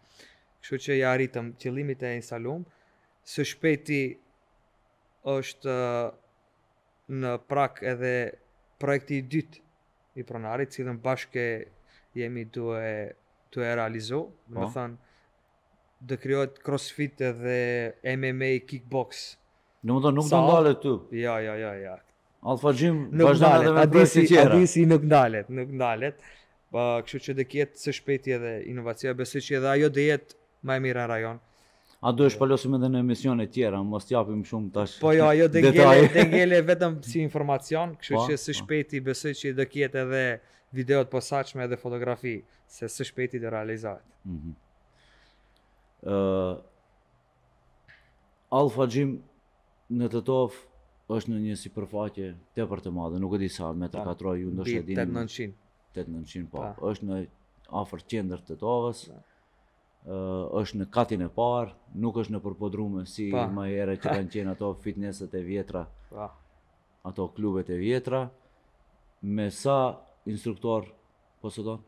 Kështu që ja arritëm qëllimit e instalum. Së shpejti është ë, në prak edhe projekti i dytë и пронари, cilëm bashkë jemi duhe tu e realizu, do të thënë do krijohet crossfit edhe M M A kickbox. Në më thonë, nuk do Sa- ndalet tu. Ja, ja, ja, ja. Alpha Gym Nuk vazhdon edhe ndalet, me adisi, projekte tjera. adisi nuk ndalet, nuk ndalet. Pa, kështu që do ketë së shpejti edhe inovacia, besoj që edhe ajo do jetë më e mira në rajon. A do e shpalosim edhe në emisione tjera, mos t'japim shumë tash. Po jo, ajo do ngele, detaje. do ngele vetëm si informacion, kështu Po, që së po. shpejti besoj që do ketë edhe videot posaçme edhe fotografi, se së shpejti do realizohet. Mhm. Ë, Alpha Gym në Tetov është në një sipërfaqe tepër të madhe, nuk e di sa metër Pa, katror ju ndoshta Mbi e dini. tetëdhjetë nëntëqind. tetëdhjetë nëntëqind, po. Pa. Është në afër qendër të Tetovës. Pa. Ë, është në katin e parë, nuk është në përpodrume si Pa. më herë që kanë qenë ato fitnesset e vjetra, Pa. ato klubet e vjetra. Me sa instruktor posëdon?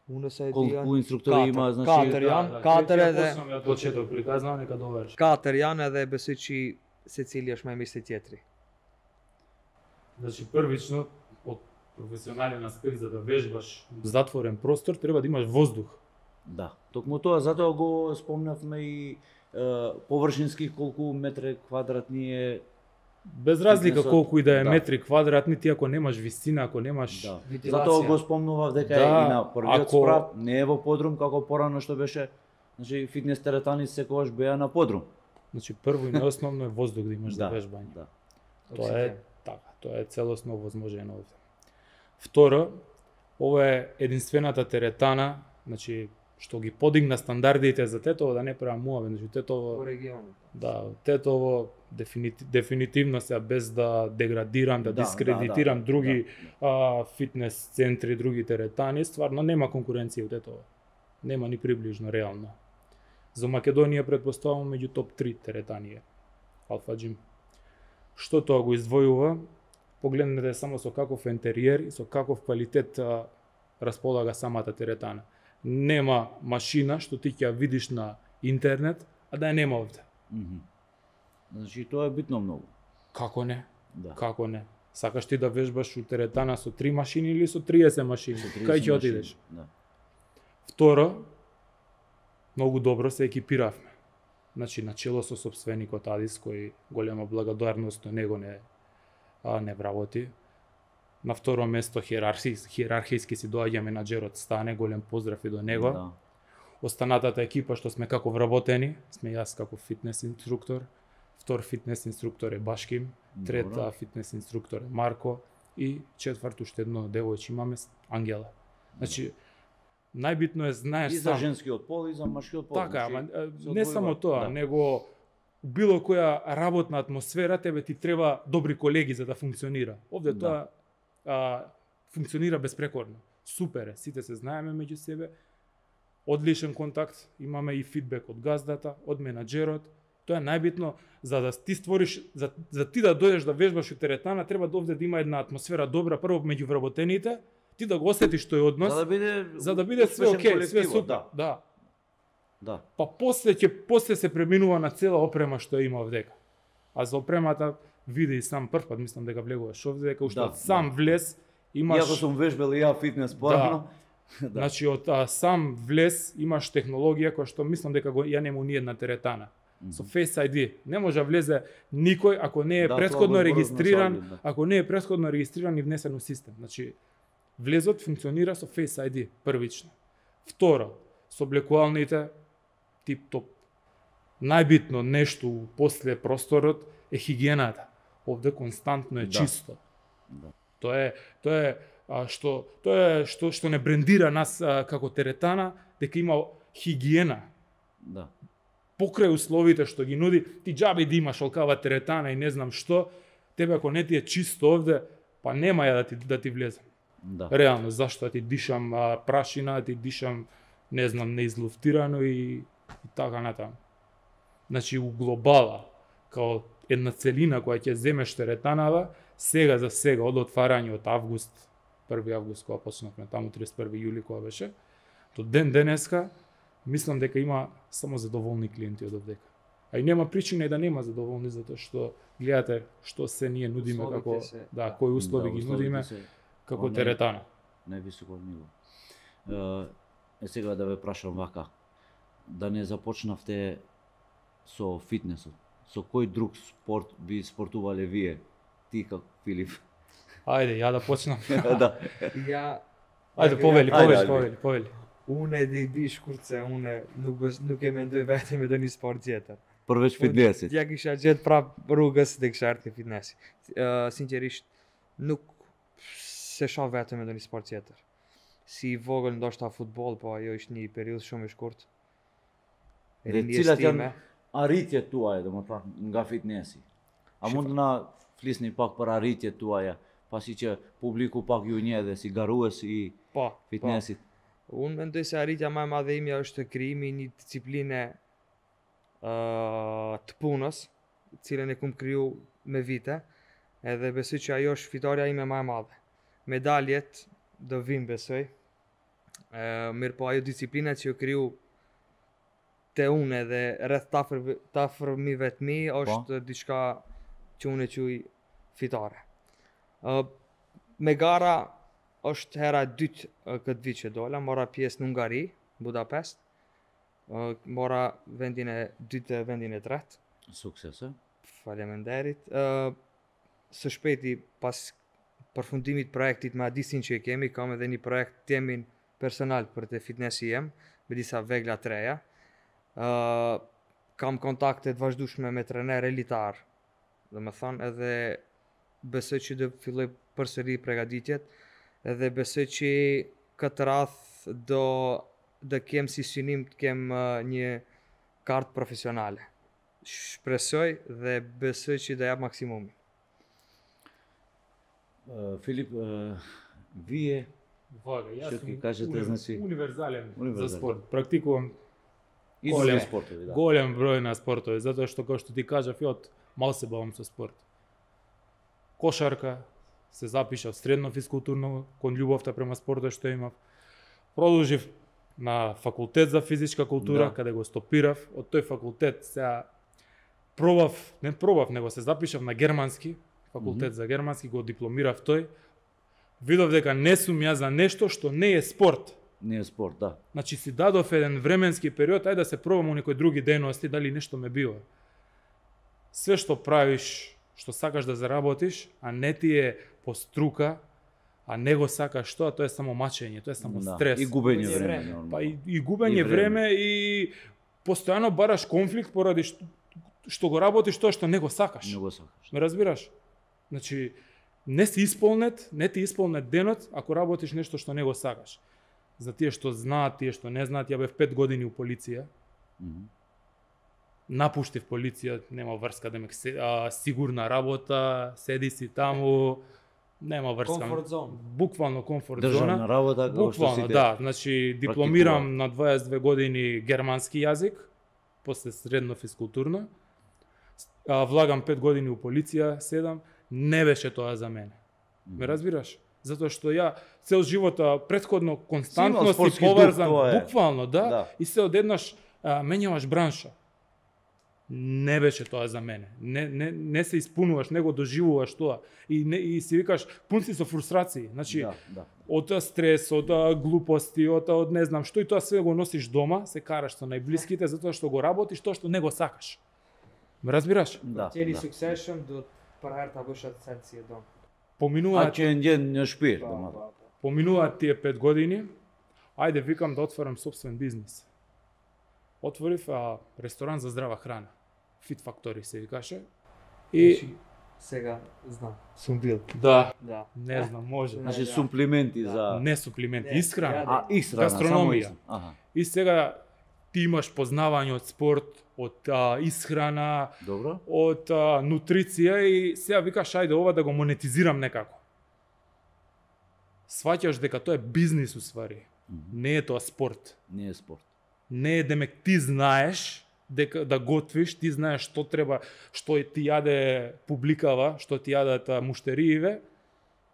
Unë se e di Колку janë инструктори katër, има, значи katër janë, katër edhe Почнам ја од почеток приказнав, нека доврши. katër janë edhe besoj që secili është më i mirë se tjetri. Значи првично од професионален аспект за да вежбаш во затворен простор треба да имаш воздух. Да, токму тоа, затоа го спомнавме и е, површински колку метри квадратни е. Без разлика Фитнесот, колку и да е да. метри квадратни, ти ако немаш висина, ако немаш Да. Вентилација. Затоа го спомнував дека Да, е и на првиот ако- спрат, не е во подрум како порано што беше. Значи фитнес теретани секогаш беа на подрум. Значи прво и најосновно е воздух да имаш Да, за вежбање. да. Тоа е така, тоа е целосно возможено овде. Второ, ова е единствената теретана, значи што ги подигна стандардите за Тетово, да не правам муаве, значи Тетово, По регионот. да, Тетово дефинити, дефинитивно се без да деградирам, да, Да, дискредитирам да, да, други а, фитнес центри, други теретани, стварно нема конкуренција у Тетово. Нема ни приближно реално. За Македонија претпоставувам меѓу топ три теретани е Alpha Gym. Што тоа го издвојува? Погледнете само со каков ентериер и со каков квалитет а, располага самата теретана. Нема машина што ти ќе ја видиш на интернет, а да ја нема овде. Мгм. Значи тоа е битно многу. Како не? Да. Како не? Сакаш ти да вежбаш у теретана со три машини или со триесет машини? Со триесет Кај ќе машини, отидеш? Да. Второ, многу добро се екипиравме. Значи, начело со собственикот Адис, кој голема благодарност на него не, а, не вработи. На второ место хиерархиски, хиерархиски си доаѓа менаџерот Стане, голем поздрав и до него. Да. Останатата екипа што сме како вработени, сме јас како фитнес инструктор, втор фитнес инструктор е Башким, трета Добро. фитнес инструктор е Марко и четврт уште едно девојче имаме Ангела. Значи, најбитно е знаеш И за сам. женскиот пол и за машкиот пол. Така, значи, ама се не одвојува. само тоа, Да. него у било која работна атмосфера тебе ти треба добри колеги за да функционира. Овде Да. тоа а, функционира безпрекорно. Супер е, сите се знаеме меѓу себе. Одличен контакт, имаме и фидбек од газдата, од менаџерот. Тоа е најбитно за да ти створиш, за, за ти да дојдеш да вежбаш у теретана, треба да овде да има една атмосфера добра прво меѓу вработените, ти да го осетиш тој однос, За да биде за да биде све успешен окей, све колективот, супер. Да. Да. Да. Па после ќе после се преминува на цела опрема што има овдека. А за опремата види и сам прв пат, мислам дека влегуваш овде, дека уште Да, од сам да. влез имаш. Иако сум вежбал и ја фитнес порано. Да. Значи од а, сам влез имаш технологија која што мислам дека го ја нема ни една теретана. Со Face ай ди не може да влезе никој ако не е Да, претходно тоа го регистриран, зборувавме со Али, да. ако не е претходно регистриран и внесен у систем. Значи влезот функционира со Face ай ди првично. Второ, со облекувалните тип-топ. Најбитно нешто после просторот е хигиената. Овде константно е Да. чисто. Да. Тоа е тоа е а, што тоа е што што не брендира нас а, како теретана, дека има хигиена. Да. Покрај условите што ги нуди, ти џаби да имаш олкава теретана и не знам што, тебе ако не ти е чисто овде, па нема ја да ти да ти влезем. Да. Реално, зашто ти дишам а, прашина, ти дишам, не знам, неизлуфтирано и, и така натаму. Значи, у глобала, као една целина која ќе земеш теретанава, сега за сега, од отварање од август, први август кога почнавме, таму триесет и први јули кога беше, до ден денеска, мислам дека има само задоволни клиенти од овдека. А и нема причина и да нема задоволни, затоа што гледате што се ние нудиме Условите како се- да, кои услови Да, ги условите нудиме. се- како Он е- теретана. Највисоко ниво. Е, сега да ве прашам вака, да не започнавте со фитнесот, со кој друг спорт би спортувале вие? Ти како Филип? Ајде, ја да почнам. Да. Ja, Ајде, повели, Ајде, повели, ајде. повели, повели. Une di di shkurtse, une nuk bes- nuk e mendoj vetëm me ndonjë sport tjetër. Përveç fitnessit. Ja kisha gjetë prap rrugës dhe kisha ardhur te fitnessi. Uh, sinqerisht nuk se shoh vetëm me ndonjë sport tjetër. Si i vogël ndoshta futboll, po ajo ishte një periudhë shumë e shkurtë. E Dhe rinjes cilat janë time. arritjet tuaja, domethënë nga fitnessi? A mund të na flisni pak për arritjet tuaja, pasi që publiku pak ju njeh dhe si garues i Po, po. fitnessit? Unë mendoj se arritja më e madhe imja është krijimi i një discipline uh, të punës, cilën e kum kriju me vite, edhe besoj që ajo është fitoria ime më e madhe. Medaljet do vinë besoj. Uh, mirë po ajo disiplina që ju kriju te unë dhe rreth të afër të afërmive të mi është diçka që unë e quaj fitare. Uh, me gara është hera e dytë uh, këtë vit që dola, mora pjesë në Hungari, Budapest. Uh, mora vendin e dytë dhe vendin e tretë. Sukses, e? Faleminderit. Uh, së shpejti pas përfundimit projektit me Adisin që e kemi, kam edhe një projekt temin personal për të fitnessi jem, me disa vegla treja. Uh, kam kontakte të vazhdueshme me trener elitar, dhe më thonë edhe besoj që do filloj përsëri përgatitjet, edhe besoj që këtë radh do do kem si synim të kem uh, një kartë profesionale. Shpresoj dhe besoj që do jap maksimumin. Uh, Filip, uh, vije Вага, јас Што сум ќе кажете, уни- значи, универзален за универзален. спорт. Практикувам и Голем. други спортови, да. голем број на спортови, затоа што како што ти кажав, ја од мал се бавам со спорт. Кошарка, се запишав средно физкултурно, кон љубовта према спортот што имав. Продолжив на факултет за физичка култура, Да. каде го стопирав. Од тој факултет сега пробав, не пробав, него се запишав на германски, факултет Мгм. за германски, го дипломирав тој. Видов дека не сум ја за нешто што не е спорт. Не е спорт, да. Значи си дадов еден временски период, ајде да се пробам у некои други дејности, дали нешто ме бива. Све што правиш, што сакаш да заработиш, а не ти е по струка, а не го сакаш тоа, тоа е само мачење, тоа е само Да. стрес. И губење Губење време, време. нормално. Па и, и губење И време. време и постојано бараш конфликт поради што, што го работиш тоа што не го сакаш. Не го сакаш. Ме разбираш? Значи, не си исполнет, не ти исполнет денот ако работиш нешто што не го сакаш. За тие што знаат, тие што не знаат, ја бев пет години у полиција. Мгм. Напуштив полиција, нема врска да ме се, а, сигурна работа, седи си таму, нема врска. Comfort zone. Буквално комфорт Државна зона. работа, како што Буквално, сите. да. Значи, дипломирам на дваесет две години германски јазик, после средно физкултурно. А, влагам пет години у полиција, седам, не беше тоа за мене. Ме разбираш? Затоа што ја цел живот а, претходно константно си спортски дух, поврзан, тоа е. буквално, да, Да. и се одеднаш а, менјаваш бранша. Не беше тоа за мене. Не, не, не се испунуваш, не го доживуваш тоа. И, не, и си викаш, пун си со фрустрации. Значи, Да, да. од а, стрес, од а, глупости, од, а, од не знам што, и тоа све го носиш дома, се караш со најблиските, затоа што го работиш тоа што не го сакаш. Ме разбираш? Да. Qeni да. suksesshëm do të për herë ta bësh atë sen si e don. А Поминуваат, ќе ndjen në shpirt, Po, domethënë. po, po. поминуваат тие пет години, ајде викам да отворам собствен бизнис. Отворив а, ресторан за здрава храна. Fit Factory се викаше. И Значи, сега знам. Сум бил. да, Да. не знам, може. Да. Значи суплементи за Не суплименти, Не, исхрана. ја а исхрана, само Гастрономија. исхрана. Аха. И сега ти имаш познавање од спорт, од а, исхрана, Добро. од а, нутриција и сега викаш ајде ова да го монетизирам некако. Сваќаш дека тоа е бизнис усвари. Мгм. Не е тоа спорт. Не е спорт. Не е демек ти знаеш дека да готвиш, ти знаеш што треба, што ти јаде публикава, што ти јадат а, муштерииве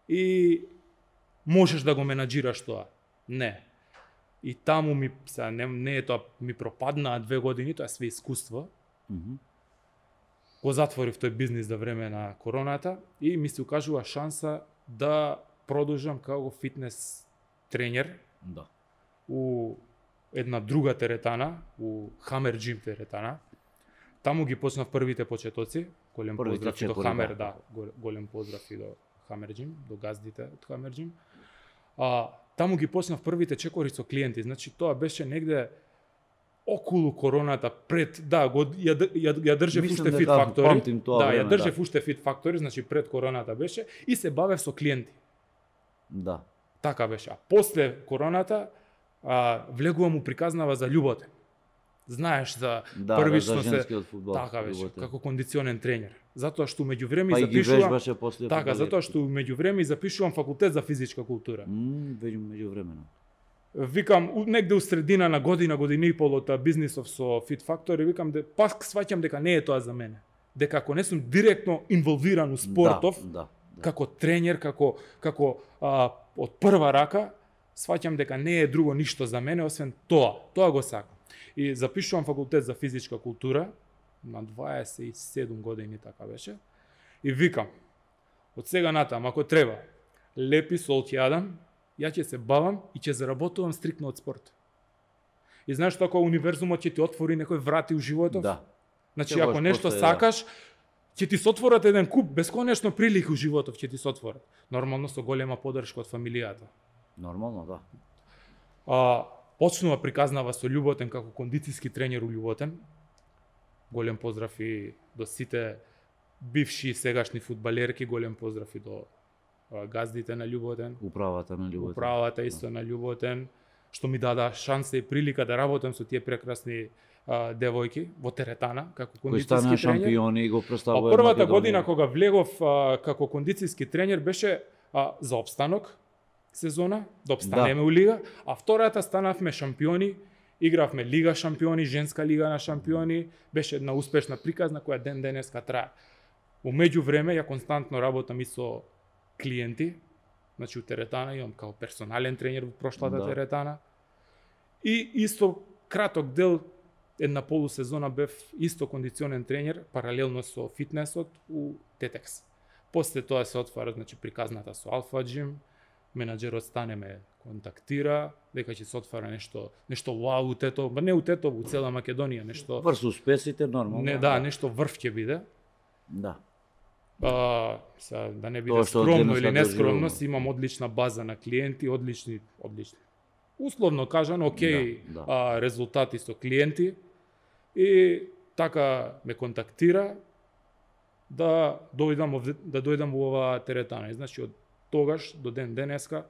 и можеш да го менаџираш тоа. Не. И таму ми сега не, не е тоа ми пропаднаа две години, тоа е све искуство. Мгм. Го затворив тој бизнис за време на короната и ми се укажува шанса да продолжам како фитнес тренер Да. у една друга теретана, у Hammer Gym теретана. Таму ги почнав првите почетоци. Голем Првите поздрав и до четвори, Hammer, да. да, гол- голем поздрав и до Hammer Gym, до газдите од Hammer Gym. А, таму ги почнав првите чекори со клиенти. Значи тоа беше негде околу короната, пред, да, го, ја, ја, ја држев Мислам уште дека Fit Factory. памтим тоа Да, ја време, држев да. уште Fit Factory, значи пред короната беше и се бавев со клиенти. Да. Така беше. А после короната а, влегувам у приказнава за љуботен. Знаеш за Да, првично да, за се женскиот фудбал. така беше, љуботен. како кондиционен тренер. Затоа што меѓувреме Па и ги запишувам вежбаше после така, фудбалерите. затоа што меѓувреме запишувам факултет за физичка култура. М, веќе меѓувремено. Викам у- негде у средина на година, година и пол од бизнисов со Fit Factory, викам де пак сваќам дека не е тоа за мене. Дека ако не сум директно инволвиран у спортов, Да, да, да. како тренер, како како а, од прва рака, сваќам дека не е друго ништо за мене освен тоа. Тоа го сакам. И запишувам факултет за физичка култура на дваесет и седум години така беше. И викам, од сега натам ако треба, лепи сол ќе јадам, ја ќе се бавам и ќе заработувам стрикно од спорт. И знаеш што, ако универзумот ќе ти отвори некој врати у животот? Да. Значи, Ќе ако можеш нешто после, да. сакаш, ќе ти се отворат еден куп бесконечно прилики у животот, ќе ти се отворат. Нормално со голема поддршка од фамилијата. Нормално, да. А, почнува приказнава со Љуботен како кондицијски тренер у Љуботен. Голем поздрав и до сите бивши и сегашни фудбалерки, голем поздрав и до а, газдите на Љуботен, Управата на љубовта. управата исто на Љуботен, што ми дада шанса и прилика да работам со тие прекрасни а, девојки во теретана како Кои стана кондицијски тренер. шампиони и го Па представува првата Македонија. година кога влегов а, како кондицијски тренер беше а, за опстанок сезона, да опстанеме Да. у лига, а втората станавме шампиони, игравме лига шампиони, женска лига на шампиони, беше една успешна приказна која ден денеска трае. У меѓувреме ја константно работам и со клиенти, значи у теретана имам као персонален тренер во прошлата Да. теретана. И исто краток дел една полусезона бев исто кондиционен тренер, паралелно со фитнесот у Тетекс. После тоа се отвара, значи, приказната со Алфа Gym, менаџерот стане ме контактира, дека ќе се отвара нешто, нешто вау у Тетово, ба не у Тетово, у цела Македонија, нешто, Врз успесите нормално. не, да, нешто врв ќе биде. Да. А, са, да не биде Тоа што од скромно денеска или нескромност, доживуваме. имам одлична база на клиенти, одлични, одлични. Условно кажано, окей, Да, да. А, резултати со клиенти и така ме контактира да дојдам овде, да дојдам во оваа теретана. И значи од тогаш до ден денеска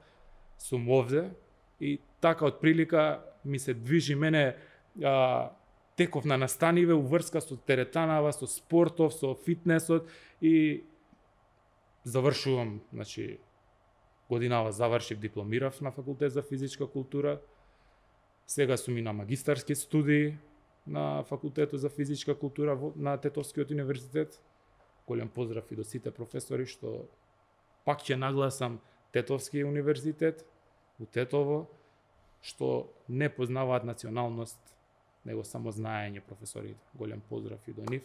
сум овде и така од прилика ми се движи мене а, теков на настаниве у врска со теретанава, со спортов, со фитнесот и завршувам, значи годинава завршив, дипломирав на факултет за физичка култура. Сега сум и на магистарски студии на факултетот за физичка култура во- на Тетовскиот универзитет. Голем поздрав и до сите професори што пак ќе нагласам Тетовски универзитет у Тетово, што не познаваат националност, него само знаење професорите. Голем поздрав и до нив.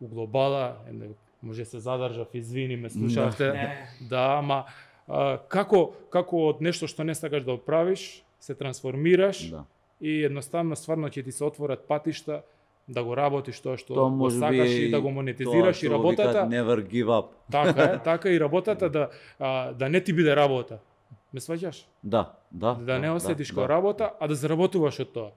У глобала, е, може се задржав, извини, ме слушавте. Не. Да, ама а, како како од нешто што не сакаш да правиш, се трансформираш Да. и едноставно стварно ќе ти се отворат патишта да го работиш тоа што Тоа го може би сакаш е и да го монетизираш тоа и што го викаат работата. never give up. Така е, така и работата да а, да не ти биде работа. Ме сваќаш? Да, да. Да не осетиш како работа, а да заработуваш од тоа.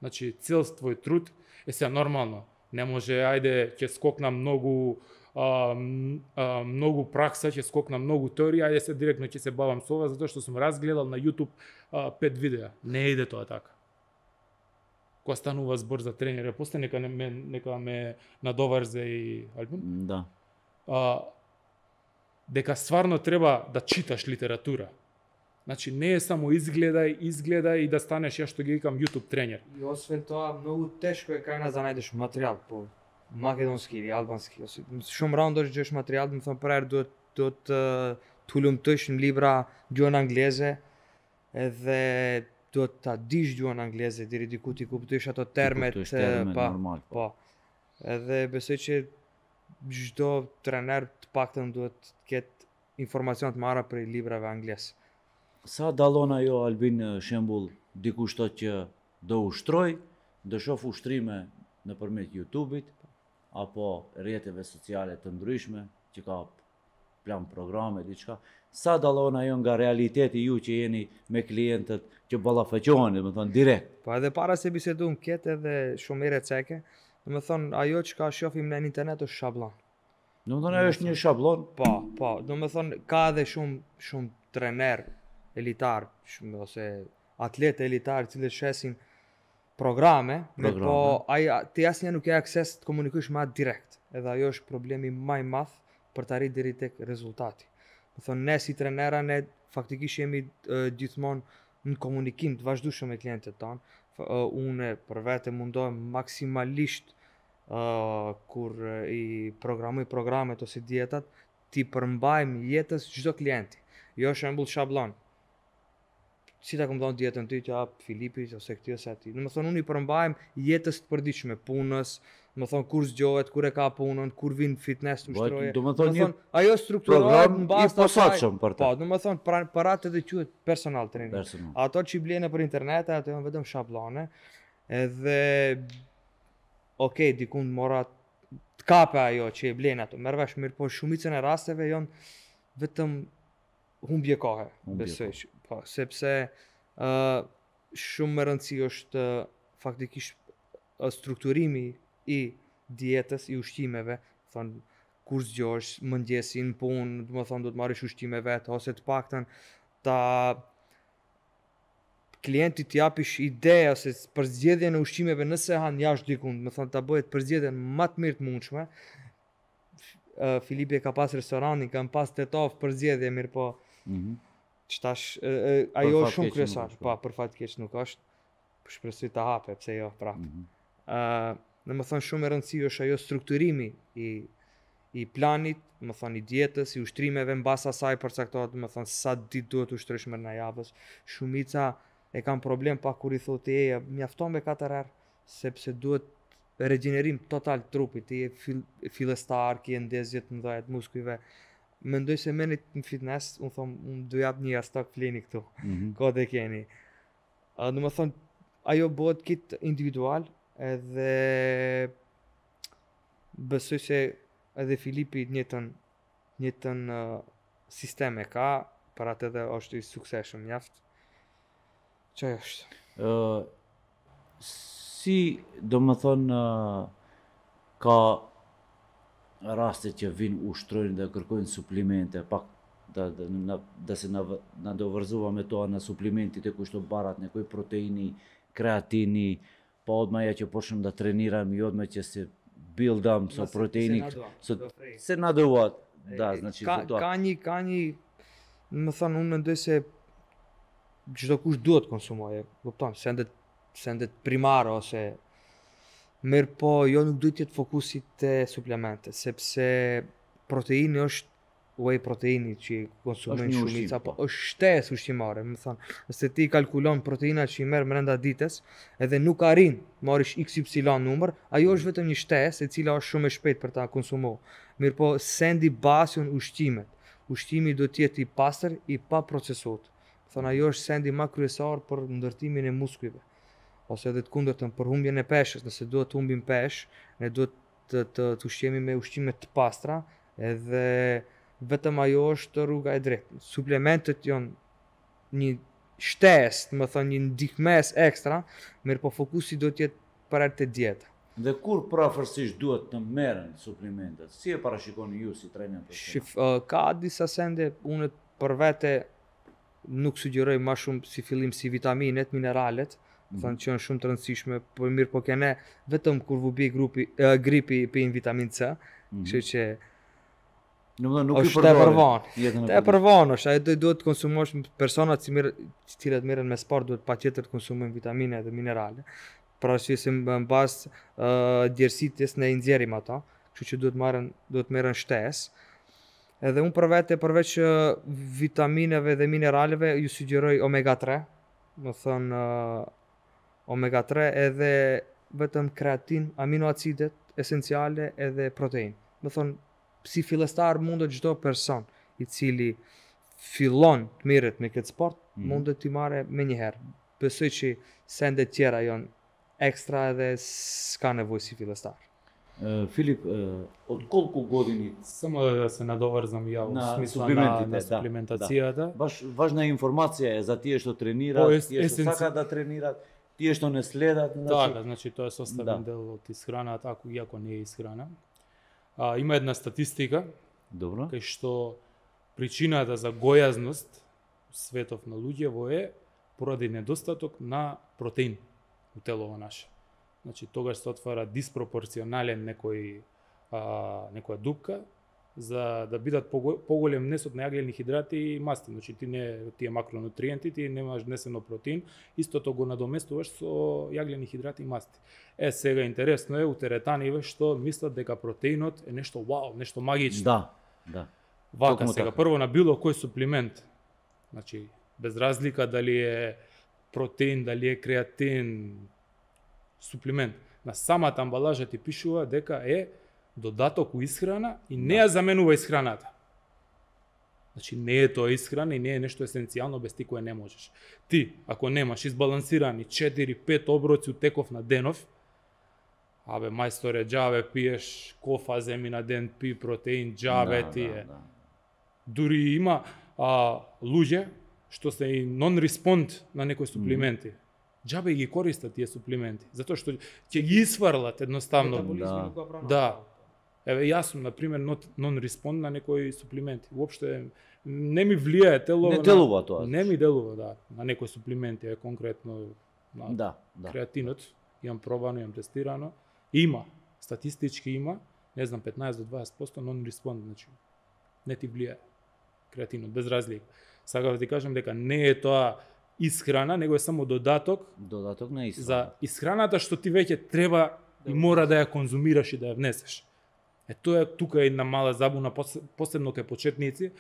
Значи цел твој труд е се нормално. Не може, ајде, ќе скокна многу а, м, а, многу пракса, ќе скокна многу теорија, ајде се директно ќе се бавам со ова затоа што сум разгледал на YouTube а, пет видеа. Не иде тоа така. Кога станува збор за тренер, после нека не ме нека ме надоврзе и Албин. Да. А, дека стварно треба да читаш литература. Значи не е само изгледај, изгледај и да станеш, ја што ги викам, YouTube тренер. И освен тоа, многу тешко е кај нас да најдеш материјал по македонски или албански. Shumë rëndë është gjesh material, më thënë prerë duhet duhet të të hulumtosh në libra gjuhën angleze edhe duhet ta dish gjuhën angleze deri diku ti kuptosh ato termet, kuptosh e, termet, pa, normal, po. po. Edhe besoj që çdo trener të paktën duhet të ketë информационот мара при либрave англис. Sa dallona jo Albin shembull dikush thotë që do ushtroj, do shoh ushtrime nëpërmjet YouTube-it apo rrjeteve sociale të ndryshme që ka plan programe diçka. Sa dallon ajo nga realiteti ju që jeni me klientët që ballafaqoheni, domethënë direkt. Po edhe para se bisedum këtë edhe shumë herë ceke, domethënë ajo që ka shohim në internet është shablon. Domethënë ajo është një shablon. Po, po, domethënë ka edhe shumë shumë trener elitar, shumë ose atletë elitar që shesin programe, Programe. po ai ti asnjë nuk ke akses të komunikosh me atë direkt. Edhe ajo është problemi më i madh për të arritur deri tek rezultati. Do thonë ne si trenera ne faktikisht jemi uh, gjithmonë në komunikim të vazhdueshëm me klientët tanë. Uh, unë për vete mundohem maksimalisht uh, kur uh, i programoj programet ose dietat ti përmbajmë jetës çdo klienti. Jo shembull shablon. Si ta kom thonë dietën ty që hap Filipi ose këti ose aty. Do të thonë unë i përmbajmë jetës të përditshme punës, do të thonë kur zgjohet, kur e ka punën, kur vin fitness të ushtroje. Do të thonë një ajo strukturohet program në i bazë të posaçëm për të. Po, do të thonë pra, për atë edhe quhet personal training. Personal. Ato që i blen nëpër internet ato janë vetëm shablone. Edhe okay, dikun mora të kape ajo që i blen ato. Merr vesh mirë, po shumicën e rasteve janë vetëm humbje kohe, Humbje besoj. Po, sepse uh, shumë më rëndësi është uh, faktikisht uh, strukturimi i dietës, i ushqimeve, thonë kur zgjohesh, mëngjesin, punë, do të thonë do të marrësh ushqime vetë ose të paktën ta klientit t'i japish ide ose për zgjedhjen e ushqimeve nëse han jashtë dikun, do të thonë ta bëhet përzgjedhjen më të mirë të mundshme. Uh, Filipi ka pas restoranin, kam pas tetov përzgjedhje mirë, po Mhm. Qtash, uh, ajo fat shumë keq kryesar, nuk është, pa, për fat keq nuk është, shpresoj ta hape, pse jo, prap. Mhm. Uh, në më thonë shumë e rëndësi është ajo strukturimi i, i planit, më thonë i dietës, i ushtrimeve në basa saj përcaktohet, më thonë sa ditë duhet ushtrosh mërë në javës. Shumica e kam problem pa kur i thotë e mjafton me katër herë, sepse duhet regenerim total trupit, ti je fil, fillestar, ki e ndezjet në dhajet muskujve. Mendoj se menit në fitness, unë thomë, unë du jap një astak fleni këtu, Mhm. ko dhe keni. Uh, në më thonë, ajo bëhet kit individual, edhe besoj se edhe Filipi njëtën, njëtën uh, sisteme ka, për atë edhe është i sukseshëm mjaft. Çfarë është? Uh, si do më thonë uh, ka raste që vinë ushtrojnë dhe kërkojnë suplimente, pak da, da, na, da se na, na do vërzuva me toa në suplimentit e kushto barat, në koj proteini, kreatini, pa odmaja që poshëm da treniram, jodme që se buildam, so proteini, so, se na doat, da, znači ka, do ka një, ka një, më thonë, unë mendoj se çdo kush duhet konsumoje, kupton, sendet, sendet primare ose mirë po, jo nuk duhet jetë fokusi te suplemente, sepse proteini është whey proteini që konsumojnë Është një shumica, ushqim, po po. është shtesë ushqimare, më thonë, nëse ti kalkulon proteinat që i merr brenda ditës, edhe nuk arrin marrish iks ypsilon numër, ajo është vetëm një shtesë e cila është shumë e shpejtë për ta konsumuar. Mirë po, sendi basion ushqimet. Ushqimi do të jetë i pastër, i pa procesuar. Thonë ajo është sendi më kryesor për ndërtimin e muskujve. Ose edhe të kundërtën për humbjen e peshës, nëse duhet të humbim pesh, ne duhet të, të, të ushqemi me ushqime të pastra, edhe vetëm ajo është rruga e drejtë. Suplementet janë një shtesë, më thënë një ndihmes ekstra, mirë po fokusi do të jetë për atë dieta. Dhe kur prafërsisht duhet të merren suplementet? Si e parashikoni ju si trajner personal? Shif, uh, ka disa sende, unë për vete nuk sugjeroj më shumë si fillim si vitaminet, mineralet, mm. thonë që janë shumë të rëndësishme, por mirë po kene vetëm kur vu bi grupi, uh, gripi pin vitamin C, Mhm. kështu që Nuk, nuk i është te përvonë. jetën e Te përvonë është, ajo do- duhet të konsumosh personat që mirë, të cilët merren me sport duhet patjetër të konsumojnë vitamine dhe minerale. Për arsye se në bazë uh, djersitjes ne i nxjerrim ato, kështu që duhet marrën duhet merren shtesë. Edhe unë për vete përveç uh, vitamineve dhe mineraleve ju sugjeroj omega tre, do thënë uh, omega tre edhe vetëm kreatin, aminoacidet esenciale edhe protein. Do thonë si fillestar mundet çdo person i cili fillon të mirët me këtë sport, Mhm. mund të t'i marrë me njëherë. Besoj që sende tjera janë ekstra edhe s'ka nevojë si fillestar. Е, Филип, е, од колку години, Само да се надоврзам ја во На смисла на, суплиментите, на да, суплиментацијата. баш важна информација е за тие што тренираат, По ес- тие што есенци- сакаат да тренираат, тие што не следат, Така, значи тоа е составен Да. дел од исхраната, ако иако не е исхрана. А, има една статистика Добро. кај што причината за гојазност у светов на луѓево е поради недостаток на протеин у телово наше. Значи тогаш се отвара диспропорционален некој а, некоја дупка за да бидат пого- поголем внесот на јаглени хидрати и масти. Значи ти не тие макронутриенти, ти немаш внесено протеин, истото го надоместуваш со јаглени хидрати и масти. Е, сега интересно е у теретаниве што мислат дека протеинот е нешто вау, нешто магично. Да, да. Вака токму сега, така. прво на било кој суплимент, значи, без разлика дали е протеин, дали е креатин, суплимент, на самата амбалажа ти пишува дека е додаток у исхрана и не ја заменува исхраната. Значи, не е тоа исхрана и не е нешто есенцијално без ти кое не можеш. Ти, ако немаш избалансирани четири-пет оброци у теков на денов, абе, мајсторе, џабе пиеш кофа, земи на ден, пи протеин, џабе Да, ти да, е. да. Дури има а, луѓе што се и нон-респонд на некои суплименти. Џабе ги користат тие суплименти, затоа што ќе ги исфрлат едноставно. Да. Да. Еве јас сум на пример нон-респонд на некои суплименти. Уопште не ми влијае телово. Не на- делува тоа. Не ми делува, да, на некои суплименти, е конкретно на Да, да. креатинот, имам пробано, имам тестирано. Има, статистички има, не знам, петнаесет до дваесет проценти non-respond, значи не ти влијае креатинот, без разлика. Сакав да ти кажам дека не е тоа исхрана, него е само додаток Додаток на исхрана. за исхраната што ти веќе треба и мора да ја конзумираш и да ја внесеш. Е тоа е тука е една мала забуна, пос- посебно кај почетници,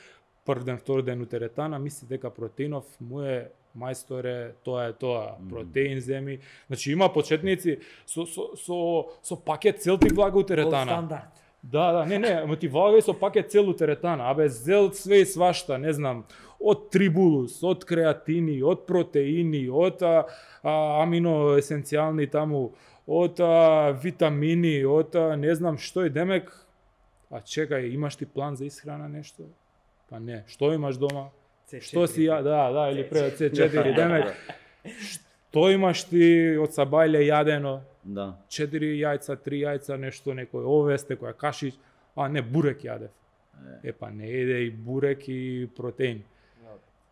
прв ден, втори ден у теретана, мисли дека протеинов му е мајсторе, тоа е тоа, протеин земи. Значи има почетници со со со со пакет цел ти влага у теретана. Стандард. Да, да, не, не, ама ти влагај со пакет целу теретана, абе зел све и свашта, не знам, од трибулус, од креатини, од протеини, од а, а, амино есенцијални таму, од а, витамини, од а, не знам што и демек. А чекај, имаш ти план за исхрана нешто? Па не, што имаш дома? Што си ја, да, да, или пред С четири демек. Што имаш ти од сабајле јадено? Да. Четири јајца, три јајца, нешто, некој овес, некоја кашич, а не бурек јадев. Е, па не еде и бурек и протеин.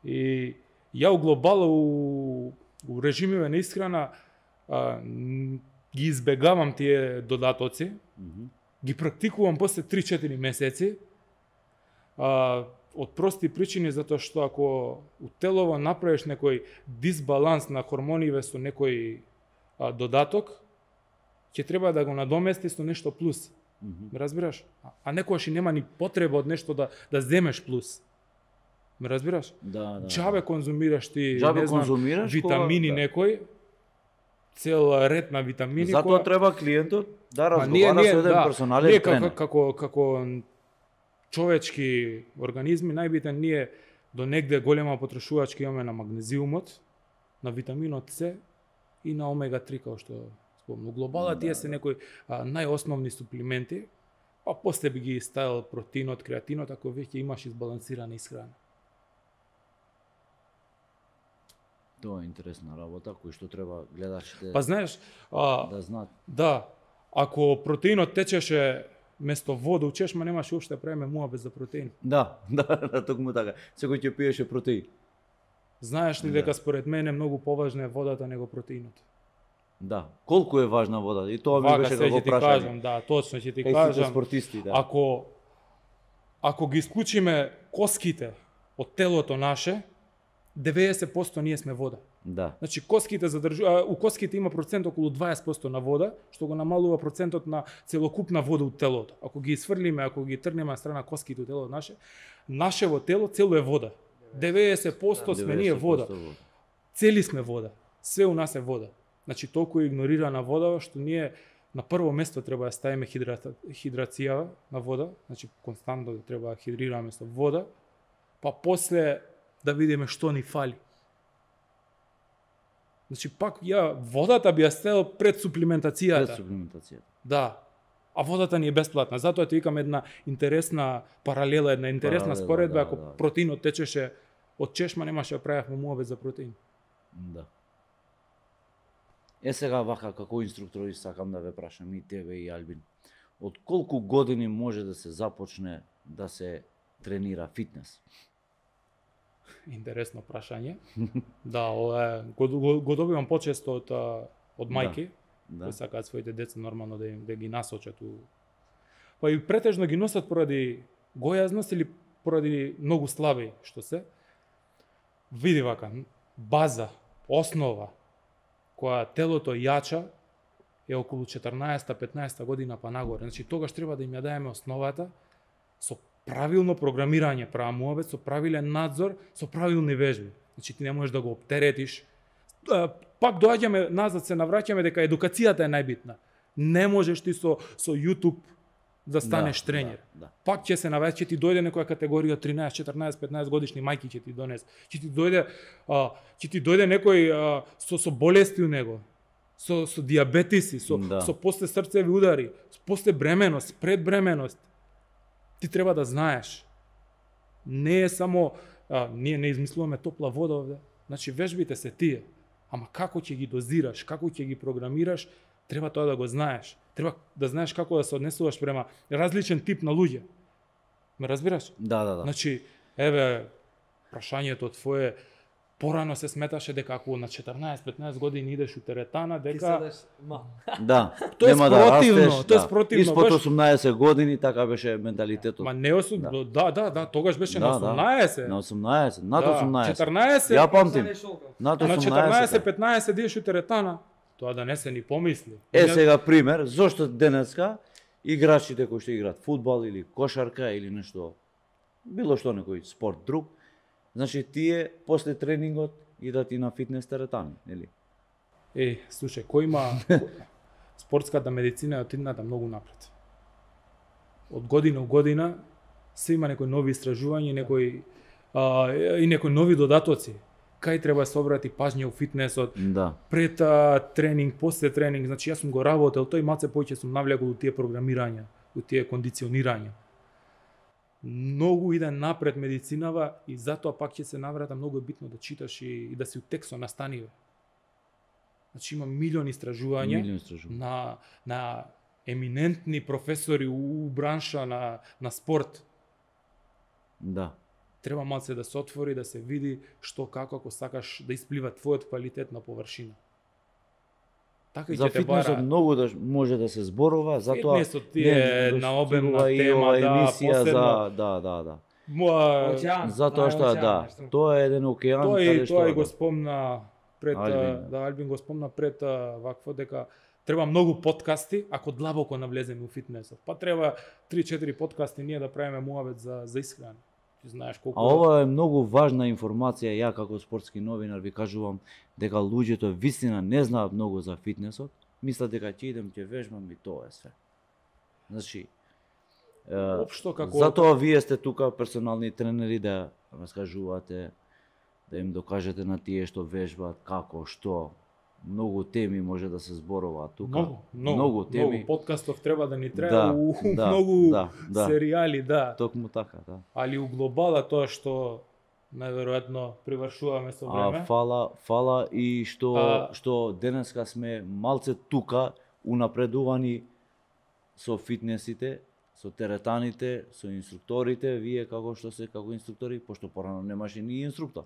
И ја у глобала у, у режимиве на исхрана а, н- ги избегавам тие додатоци, Мгм. ги практикувам после три-четири месеци, а, од прости причини, затоа што ако у телово направиш некој дисбаланс на хормониве со некој а, додаток, ќе треба да го надомести со нешто плюс. Мгм. Ме разбираш? А, а некојаш и нема ни потреба од нешто да да земеш плюс. Ме разбираш? Да, да. Џабе конзумираш ти, Џабе не знам, конзумираш витамини кога- да. некој, цел ред на витамини Затоа која- треба клиентот да Па разговара со еден персонален ние тренер. како, како, како човечки организми, најбитен ние до негде голема потрошувачка имаме на магнезиумот, на витаминот С и на омега три, како што спомнав. Глобала тие се некои а, најосновни суплименти, а после би ги ставил протеинот, креатинот, ако веќе имаш избалансирана исхрана. Тоа е интересна работа кој што треба гледачите Па знаеш, а, да знаат. да, ако протеинот течеше место вода у чешма, немаше уопште да правиме муа без за протеин. Да, да, да, токму така. Секој ќе пиеше протеин. Знаеш ли Да. дека според мене многу поважна е водата него протеинот? Да. Колку е важна вода? И тоа ми Вака беше се како ќе ти прашање. кажам, да, точно ќе ти Кај сите кажам. спортисти, да. Ако ако ги исклучиме коските од телото наше, деветдесет проценти ние сме вода. Да. Значи коските задржу, а, у коските има процент околу дваесет проценти на вода, што го намалува процентот на целокупна вода од телото. Ако ги исфрлиме, ако ги тргнеме на страна коските од телото наше, нашево тело цело е вода. деветдесет проценти сме ние вода. Цели сме вода. Све у нас е вода. Значи толку е игнорирана вода што ние на прво место треба да ставиме хидрата, хидрација на вода, значи константно да треба да хидрираме со вода па после да видиме што ни фали. Значи пак ја водата би ја ставил пред суплиментацијата. Пред суплиментацијата. Да. А водата ни е бесплатна. Затоа ти викам една интересна паралела, една интересна Паралела, споредба, да, ако да. протеинот течеше од чешма, немаше да правевме муабет за протеин. Да. Е сега вака како инструктор сакам да ве прашам и тебе и Албин. Од колку години може да се започне да се тренира фитнес? Интересно прашање. Да, ова е, го, го, го добивам почесто од, а, од мајки, Да. кои сакаат своите деца нормално да, им, да ги насочат у... Па и претежно ги носат поради гојазност или поради многу слаби, што се. Види вака, база, основа, која телото јача, е околу четрнаесетта-петнаесетта година па нагоре. Значи, тогаш треба да им ја даеме основата со правилно програмирање, права муабет, со правилен надзор, со правилни вежби. Значи, ти не можеш да го оптеретиш. Пак доаѓаме назад, се навраќаме дека едукацијата е најбитна. Не можеш ти со, со YouTube да станеш Да, тренер. да, да. Пак ќе се навраќа, ќе ти дојде некоја категорија тринаесет, четрнаесет, петнаесет годишни мајки ќе ти донес. Ќе ти дојде, а, ќе ти дојде некој а, со, со болести у него, со, со диабетиси, со, Да. со после срцеви удари, после бременост, пред бременост. Ти треба да знаеш. Не е само, а, ние не измислуваме топла вода овде. Значи, вежбите се тие. Ама како ќе ги дозираш, како ќе ги програмираш, треба тоа да го знаеш. Треба да знаеш како да се однесуваш према различен тип на луѓе. Ме разбираш? Да, да, да. Значи, еве, прашањето твое, порано се сметаше дека ако на четрнаесет-петнаесет години идеш у теретана, Ти дека... седеш мал. Да. Тоа е нема да спротивно, растеш, тоа е да. спротивно, Испод баш. осумнаесет години така беше менталитетот. Ма не осум... Да. да. да, да, тогаш беше Да, на да. осумнаесет. На осумнаесет, над Да, осумнаесет. четрнаесет, Ја памтим. Седеш околу. Над а на осумнаесет. четрнаесет-петнаесет идеш у теретана. Тоа да не се ни помисли. Е Не- сега пример, зошто денеска играчите кои што играат фудбал или кошарка или нешто, било што некој спорт друг, значи тие после тренингот идат и на фитнес теретани, нели? Е, слушај, кој има спортската медицина е отидната многу напред. Од година у година се има некои нови истражувања, некои а, и некои нови додатоци. Кај треба да се обрати пажња у фитнесот, Да. пред а, тренинг, после тренинг, значи јас сум го работел, тој малце повеќе сум навлегол у тие програмирања, у тие кондиционирања. Многу иде напред медицинава и затоа пак ќе се наврата, многу е битно да читаш и, и да си у текст со настаниве. Значи има милиони истражувања Милион истражувања. на, на еминентни професори у бранша на, на спорт. Да. Треба малце да се отвори, да се види што како ако сакаш да исплива твојот квалитет на површина. Така и За ќе те фитнесот бара. многу да може да се зборува, затоа Фитнесот ти е на обемна достигува и тема, ова да, емисија посебно. за да, да, да. Моа, Океан. Затоа што океан, да, нешто. тоа е еден океан Тоа каде и што тоа и да. го спомна пред Албин. Албин. Да, Албин го спомна пред а, вакво дека треба многу подкасти ако длабоко навлеземе у фитнесот. Па треба три-четири подкасти ние да правиме муабет за за исхрана. Ти знаеш колку А ова е многу важна информација, ја како спортски новинар ви кажувам дека луѓето вистина не знаат многу за фитнесот, мислат дека ќе идем ќе вежбам и тоа е све. Значи, е, општо како затоа вие сте тука персонални тренери да раскажувате, да им докажете на тие што вежбаат, како, што. Многу теми може да се зборуваат тука. многу, многу, многу теми. многу подкастов треба да ни треба Да, у да, многу да, да. серијали, да. Токму така, да. Али у глобала тоа што најверојатно привршуваме со време. А фала, фала и што А- што денеска сме малце тука унапредувани со фитнесите, со теретаните, со инструкторите, вие како што се како инструктори, пошто порано немаше ни инструктор.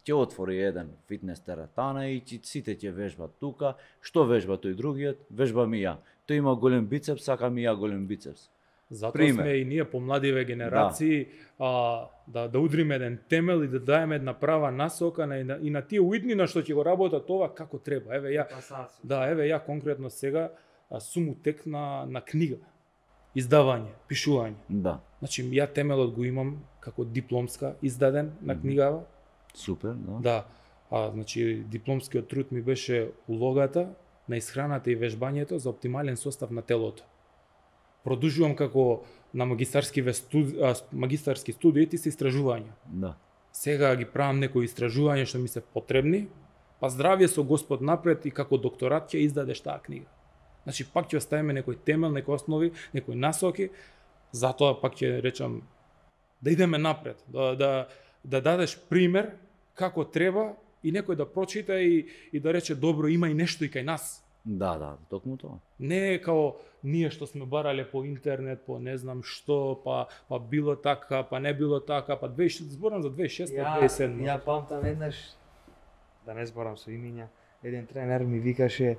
Ќе отвори еден фитнес теретана и ќе сите ќе вежбат тука. Што вежба тој другиот? Вежбам и ја. Тој има голем бицепс, сакам и ја голем бицепс. Затоа пример. сме и ние помладиве генерации а, да да удриме еден темел и да даеме една права насока на, и на, и на тие уиднина што ќе го работат ова како треба. Еве ја Пасаци. да, еве ја конкретно сега а, сум у тек на на книга. Издавање, пишување. Да, Значи ја темелот го имам како дипломска издаден на Мгм. книгава. супер, да. Да. А значи дипломскиот труд ми беше улогата на исхраната и вежбањето за оптимален состав на телото. продолжувам како на магистарски студи, магистарски студии се истражувања. Да. Сега ги правам некои истражувања што ми се потребни, па здравје со Господ напред и како докторат ќе издадеш таа книга. Значи пак ќе оставиме некој темел, некои основи, некои насоки, затоа пак ќе речам да идеме напред, да да да дадеш пример како треба и некој да прочита и и да рече добро, има и нешто и кај нас. Да, да, токму тоа. Не е као ние што сме барале по интернет, по не знам што, па па било така, па не било така, па две тисячи зборам за две тисячи и шеста, две тисячи и седма. Ја памтам еднаш, да не зборам со имиња, еден тренер ми викаше: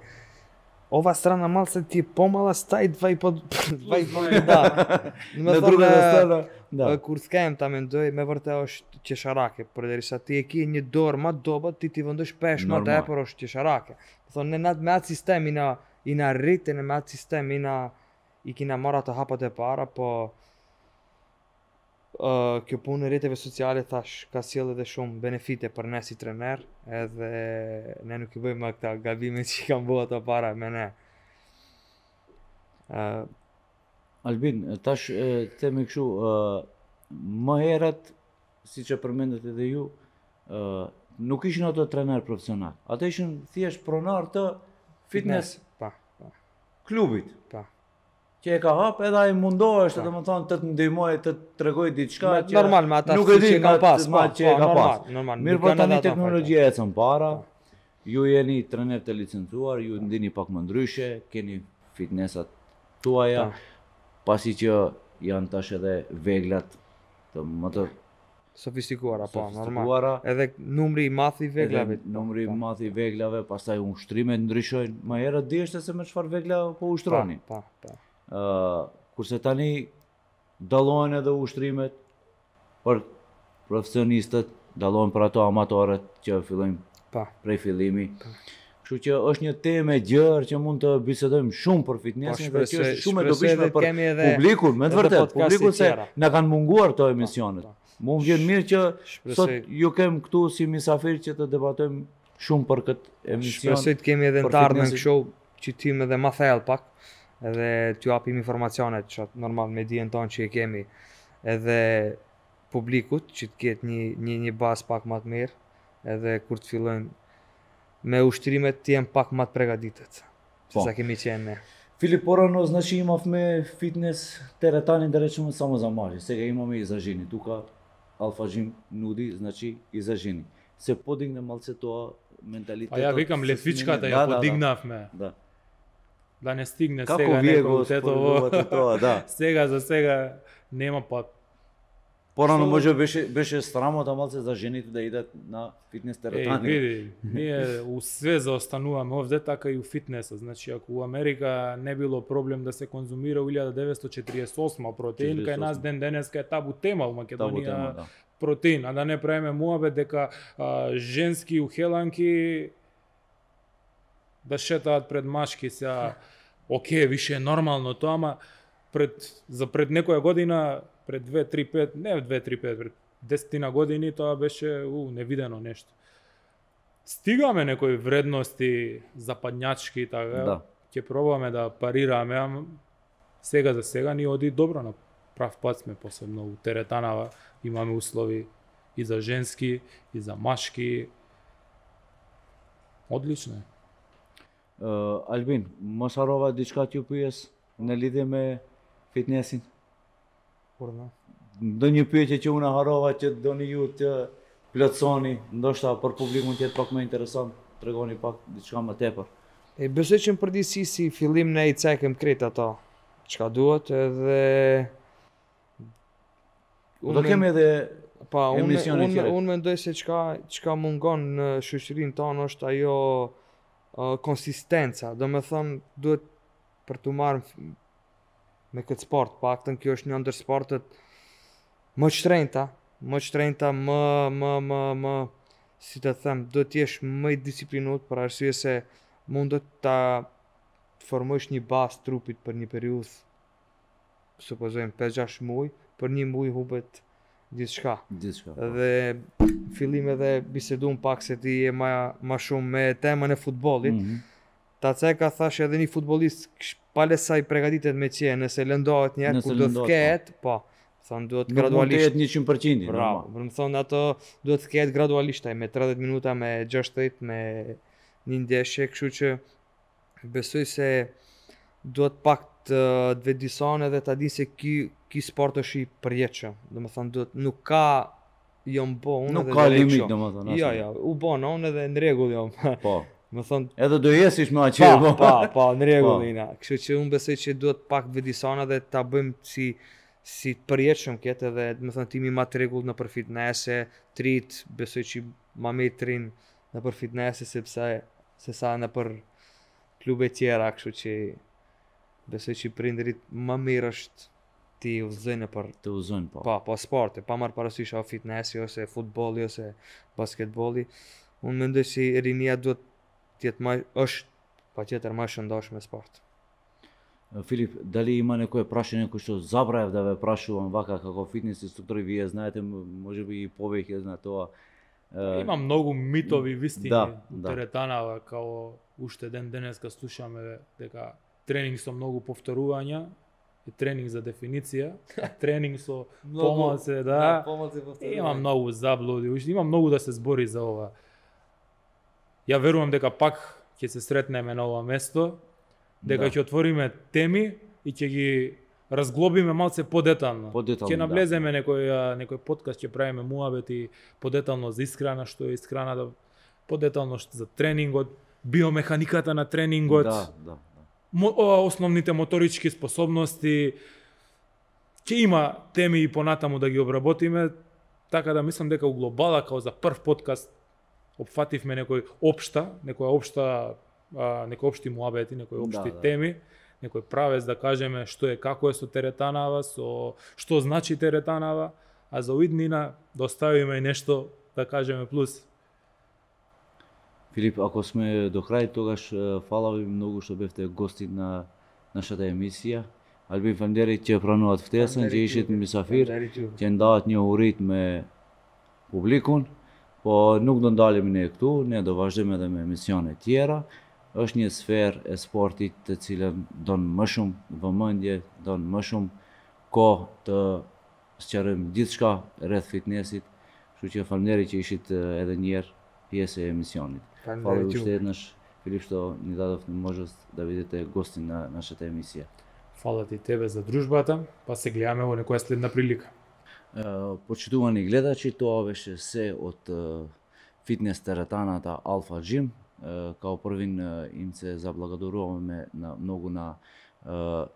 ова страна малце ти е помала, стај два и по два и по да. На другата страна, да. Курскаем тамен дој ме вртеа чешараке, поради са ти еки не дорма доба ти ти вандаш пешма да порош чешараке. Со не над меат систем и на и на рите не меат систем и на и ки на мората хапате пара по ќе пуне ретеве социјале таш ка силе да шум бенефите пренеси тренер, еде не ќе бъдеме та габиме си кам боата пара мене. Uh, Албин, таш те ме кшу маерат си че пременете да ју nuk ishin ato trener profesional. Ata ishin thjesht pronar të fitness, pa, pa. klubit. Pa. Që e ka hap edhe ai mundohesh, domethënë të të ndihmoj të tregoj diçka që normal me ata nuk e di që ka pas, ma që e ka pas. Normal. Mirë, po tani teknologjia ecën para. Ju jeni trener të licencuar, ju ndini pak më ndryshe, keni fitnessat tuaja, pasi që janë tash edhe veglat të më të sofistikuara, po, normal. Edhe numri i madh i veglave. Numri i madh i veglave, pastaj ushtrimet ndryshojnë. Më herët dishte se me çfarë vegla po ushtroni. Po, po. Ë, kurse tani dallohen edhe ushtrimet për profesionistët, dallohen për ato amatorët që fillojnë pa prej fillimi. Kështu që është një temë e gjerë që mund të bisedojmë shumë për fitnessin, dhe që është shumë e dobishme për publikun, me të vërtetë, publikun se na kanë munguar këto emisionet. Mu më vjen mirë që sot ju kem këtu si misafir që të debatojmë shumë për këtë emision. Shpresoj të kemi edhe në të ardhmen kështu që tim edhe ma thellë pak, edhe t'ju japim informacionet që normal me dijen tonë që i kemi, edhe publikut që të ketë një një një bazë pak më të mirë, edhe kur të fillojmë me ushtrimet të jenë pak më të përgatitur, se sa kemi qenë ne. Filip, porano znači imavme fitness teretani da rečemo samo za mlađe, сега imamo i za ženi, tuka Alfa Gym nudi, znači i za ženi. Se podigne malce тоа менталитетот. А ја викам летвичката ја подигнавме. Да. Да не стигне како сега вие некој тетово. Тоа, да. Сега за сега нема па. Порано може беше беше срамота малце за жените да идат на фитнес теретани. Е, види, ние у све заостануваме овде, така и у фитнесот. Значи ако у Америка не било проблем да се конзумира у илјада деветстотини четириесет и осма протеин, кај нас ден денеска е табу тема у Македонија. Тема, да. Протеин, а да не правиме муабет дека а, женски ухеланки да шетаат пред машки се, окей, више е нормално тоа, ама пред за пред некоја година, пред две три пет, не две три пет, пред десетина години тоа беше у невидено нешто. Стигаме некои вредности западњачки така, да. Ќе пробаме да парираме, ама сега за сега ни оди добро, на прав пат сме, посебно у теретанава имаме услови и за женски, и за машки. Одлично е. Uh, Albin, mos harrova diçka t'ju pyes në lidhje me fitnessin? Por no. Ndonjë pyetje që unë harrova që doni ju të plotësoni, ndoshta për publikun të jetë pak më interesant, tregoni pak diçka më tepër. E besoj që në përgjithësi si fillim ne i cekëm krejt ato çka duhet, edhe Do kemi edhe pa unë emisione unë tjera. unë mendoj se çka çka mungon në shoqërinë tonë është ajo uh, konsistenca. Do me thonë duhet për të marrë me këtë sport, paktën kjo është një ndër sportet më të shtrenjta, më të shtrenjta, më më më më si të them, do të jesh më i disiplinuar për arsye se mundet ta formosh një bazë trupit për një periudhë, supozojmë pesë gjashtë muaj, për një muaj hubet gjithçka. Gjithçka. Dhe fillim edhe bisedum pak se ti je ma ma shumë me temën e futbollit. Mm -hmm. Та цека thаш edhe një futbollist pale sa i përgatitet me qenë, nëse lëndohet një herë Nëse kur do të lëndohet, ketë, po, thonë duhet Nuk mund të gradualisht. jetë njëqind përqind. Bravo, për më thonë ato duhet të ketë gradualisht, ai me tridhjetë minuta, me gjashtëdhjetë, me një ndeshje, kështu që besoj se duhet pak të të vedison edhe ta di se ky ky sport është i përjetshëm. Domethënë duhet nuk ka jo mbo unë Nuk edhe ka do lek limit kështu. domethënë. Jo, jo, u bon unë edhe në rregull jam. Po. Më thonë Edhe do jesish me aqe, pa, po. pa, pa, në rregull Po. ina. Kështu që unë besoj që duhet pak vëdisona dhe ta bëjmë si si të përjetshëm këtë edhe do të thënë timi ma të rregull në për fitnese, trit, besoj që ma me trin në për fitnese sepse se sa në për klube tjera, kështu që besoj që prindërit më mirë është ti udhëzojnë për Të uzojnë, po. pa, pa sporte, pa marrë parasysh a fitnesi ose futbolli ose basketbolli. Unë mendoj si rinia duhet tjetë ma, është pa tjetër ma shëndosh me sport. Filip, дали има некое прашање кој што забравев да ве прашувам вака како фитнес инструктори, вие знаете можеби и повеќе на тоа. Е, Има многу митови вистини Да, у да. теретанава, као уште ден денеска слушаме дека тренинг со многу повторувања е тренинг за дефиниција, а тренинг со помалце, да. помалце Има многу заблуди, уште има многу да се збори за ова. Ја верувам дека пак ќе се сретнеме на ова место, дека Да. ќе отвориме теми и ќе ги разглобиме малце подетално. Подетално, Ќе да. навлеземе некој а, некој подкаст, ќе правиме муабети подетално за исхрана, што е исхраната, подетално што за тренингот, биомеханиката на тренингот, Да, да, да. мо, о, основните моторички способности. Ќе има теми и понатаму да ги обработиме, така да мислам дека у глобала као за прв подкаст опфативме некој општа, некоја општа, а, некои општи муабети, некои општи Да, да. теми, некој правец да кажеме што е, како е со теретанава, со што значи теретанава, а за уиднина да оставиме и нешто да кажеме плюс. Филип, ако сме до крај, тогаш е, фала ви многу што бевте гости на нашата емисија. Албин фалемдери ќе прануваат втесен, ќе ишет мисафир, ќе ndavат një urit me publikun, po nuk do ndalemi ne këtu, ne do vazhdojmë edhe me emisione tjera. Është një sferë e sportit të cilën don më shumë vëmendje, don më shumë kohë të sqarojmë gjithçka rreth fitnessit, kështu që faleminderit që ishit e, edhe një herë pjesë e emisionit. Hvala ušte naš Filip što ni дадов можност да видите гости на нашата емисија. Фала ти тебе за дружбата, па се гледаме во некоја следна прилика. Е, Почитувани гледачи, тоа беше се од е, фитнес теретаната Alpha Gym. Е, Као првин е, им се заблагодаруваме на многу на е,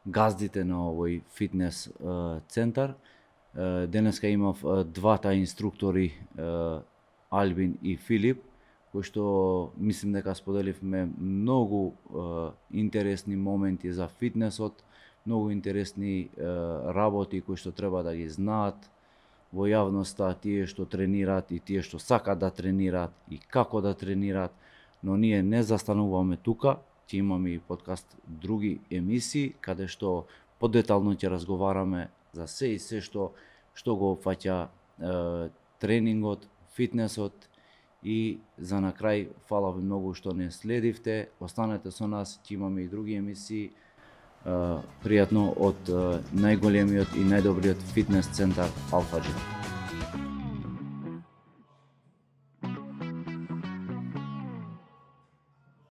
газдите на овој фитнес е, центар. Е, Денеска имав е, двата инструктори е, Албин и Филип, кои што мислим дека споделивме многу е, интересни моменти за фитнесот, многу интересни е, работи кои што треба да ги знаат во јавноста, тие што тренираат и тие што сакаат да тренираат и како да тренираат, но ние не застануваме тука, ќе имаме и подкаст други емисии каде што подетално ќе разговараме за се и се што што го опфаќа е, тренингот, фитнесот. И за на крај, фала ви многу што не следивте, останете со нас, ќе имаме и други емисии. Пријатно од најголемиот и најдобриот фитнес центар Alpha Gym.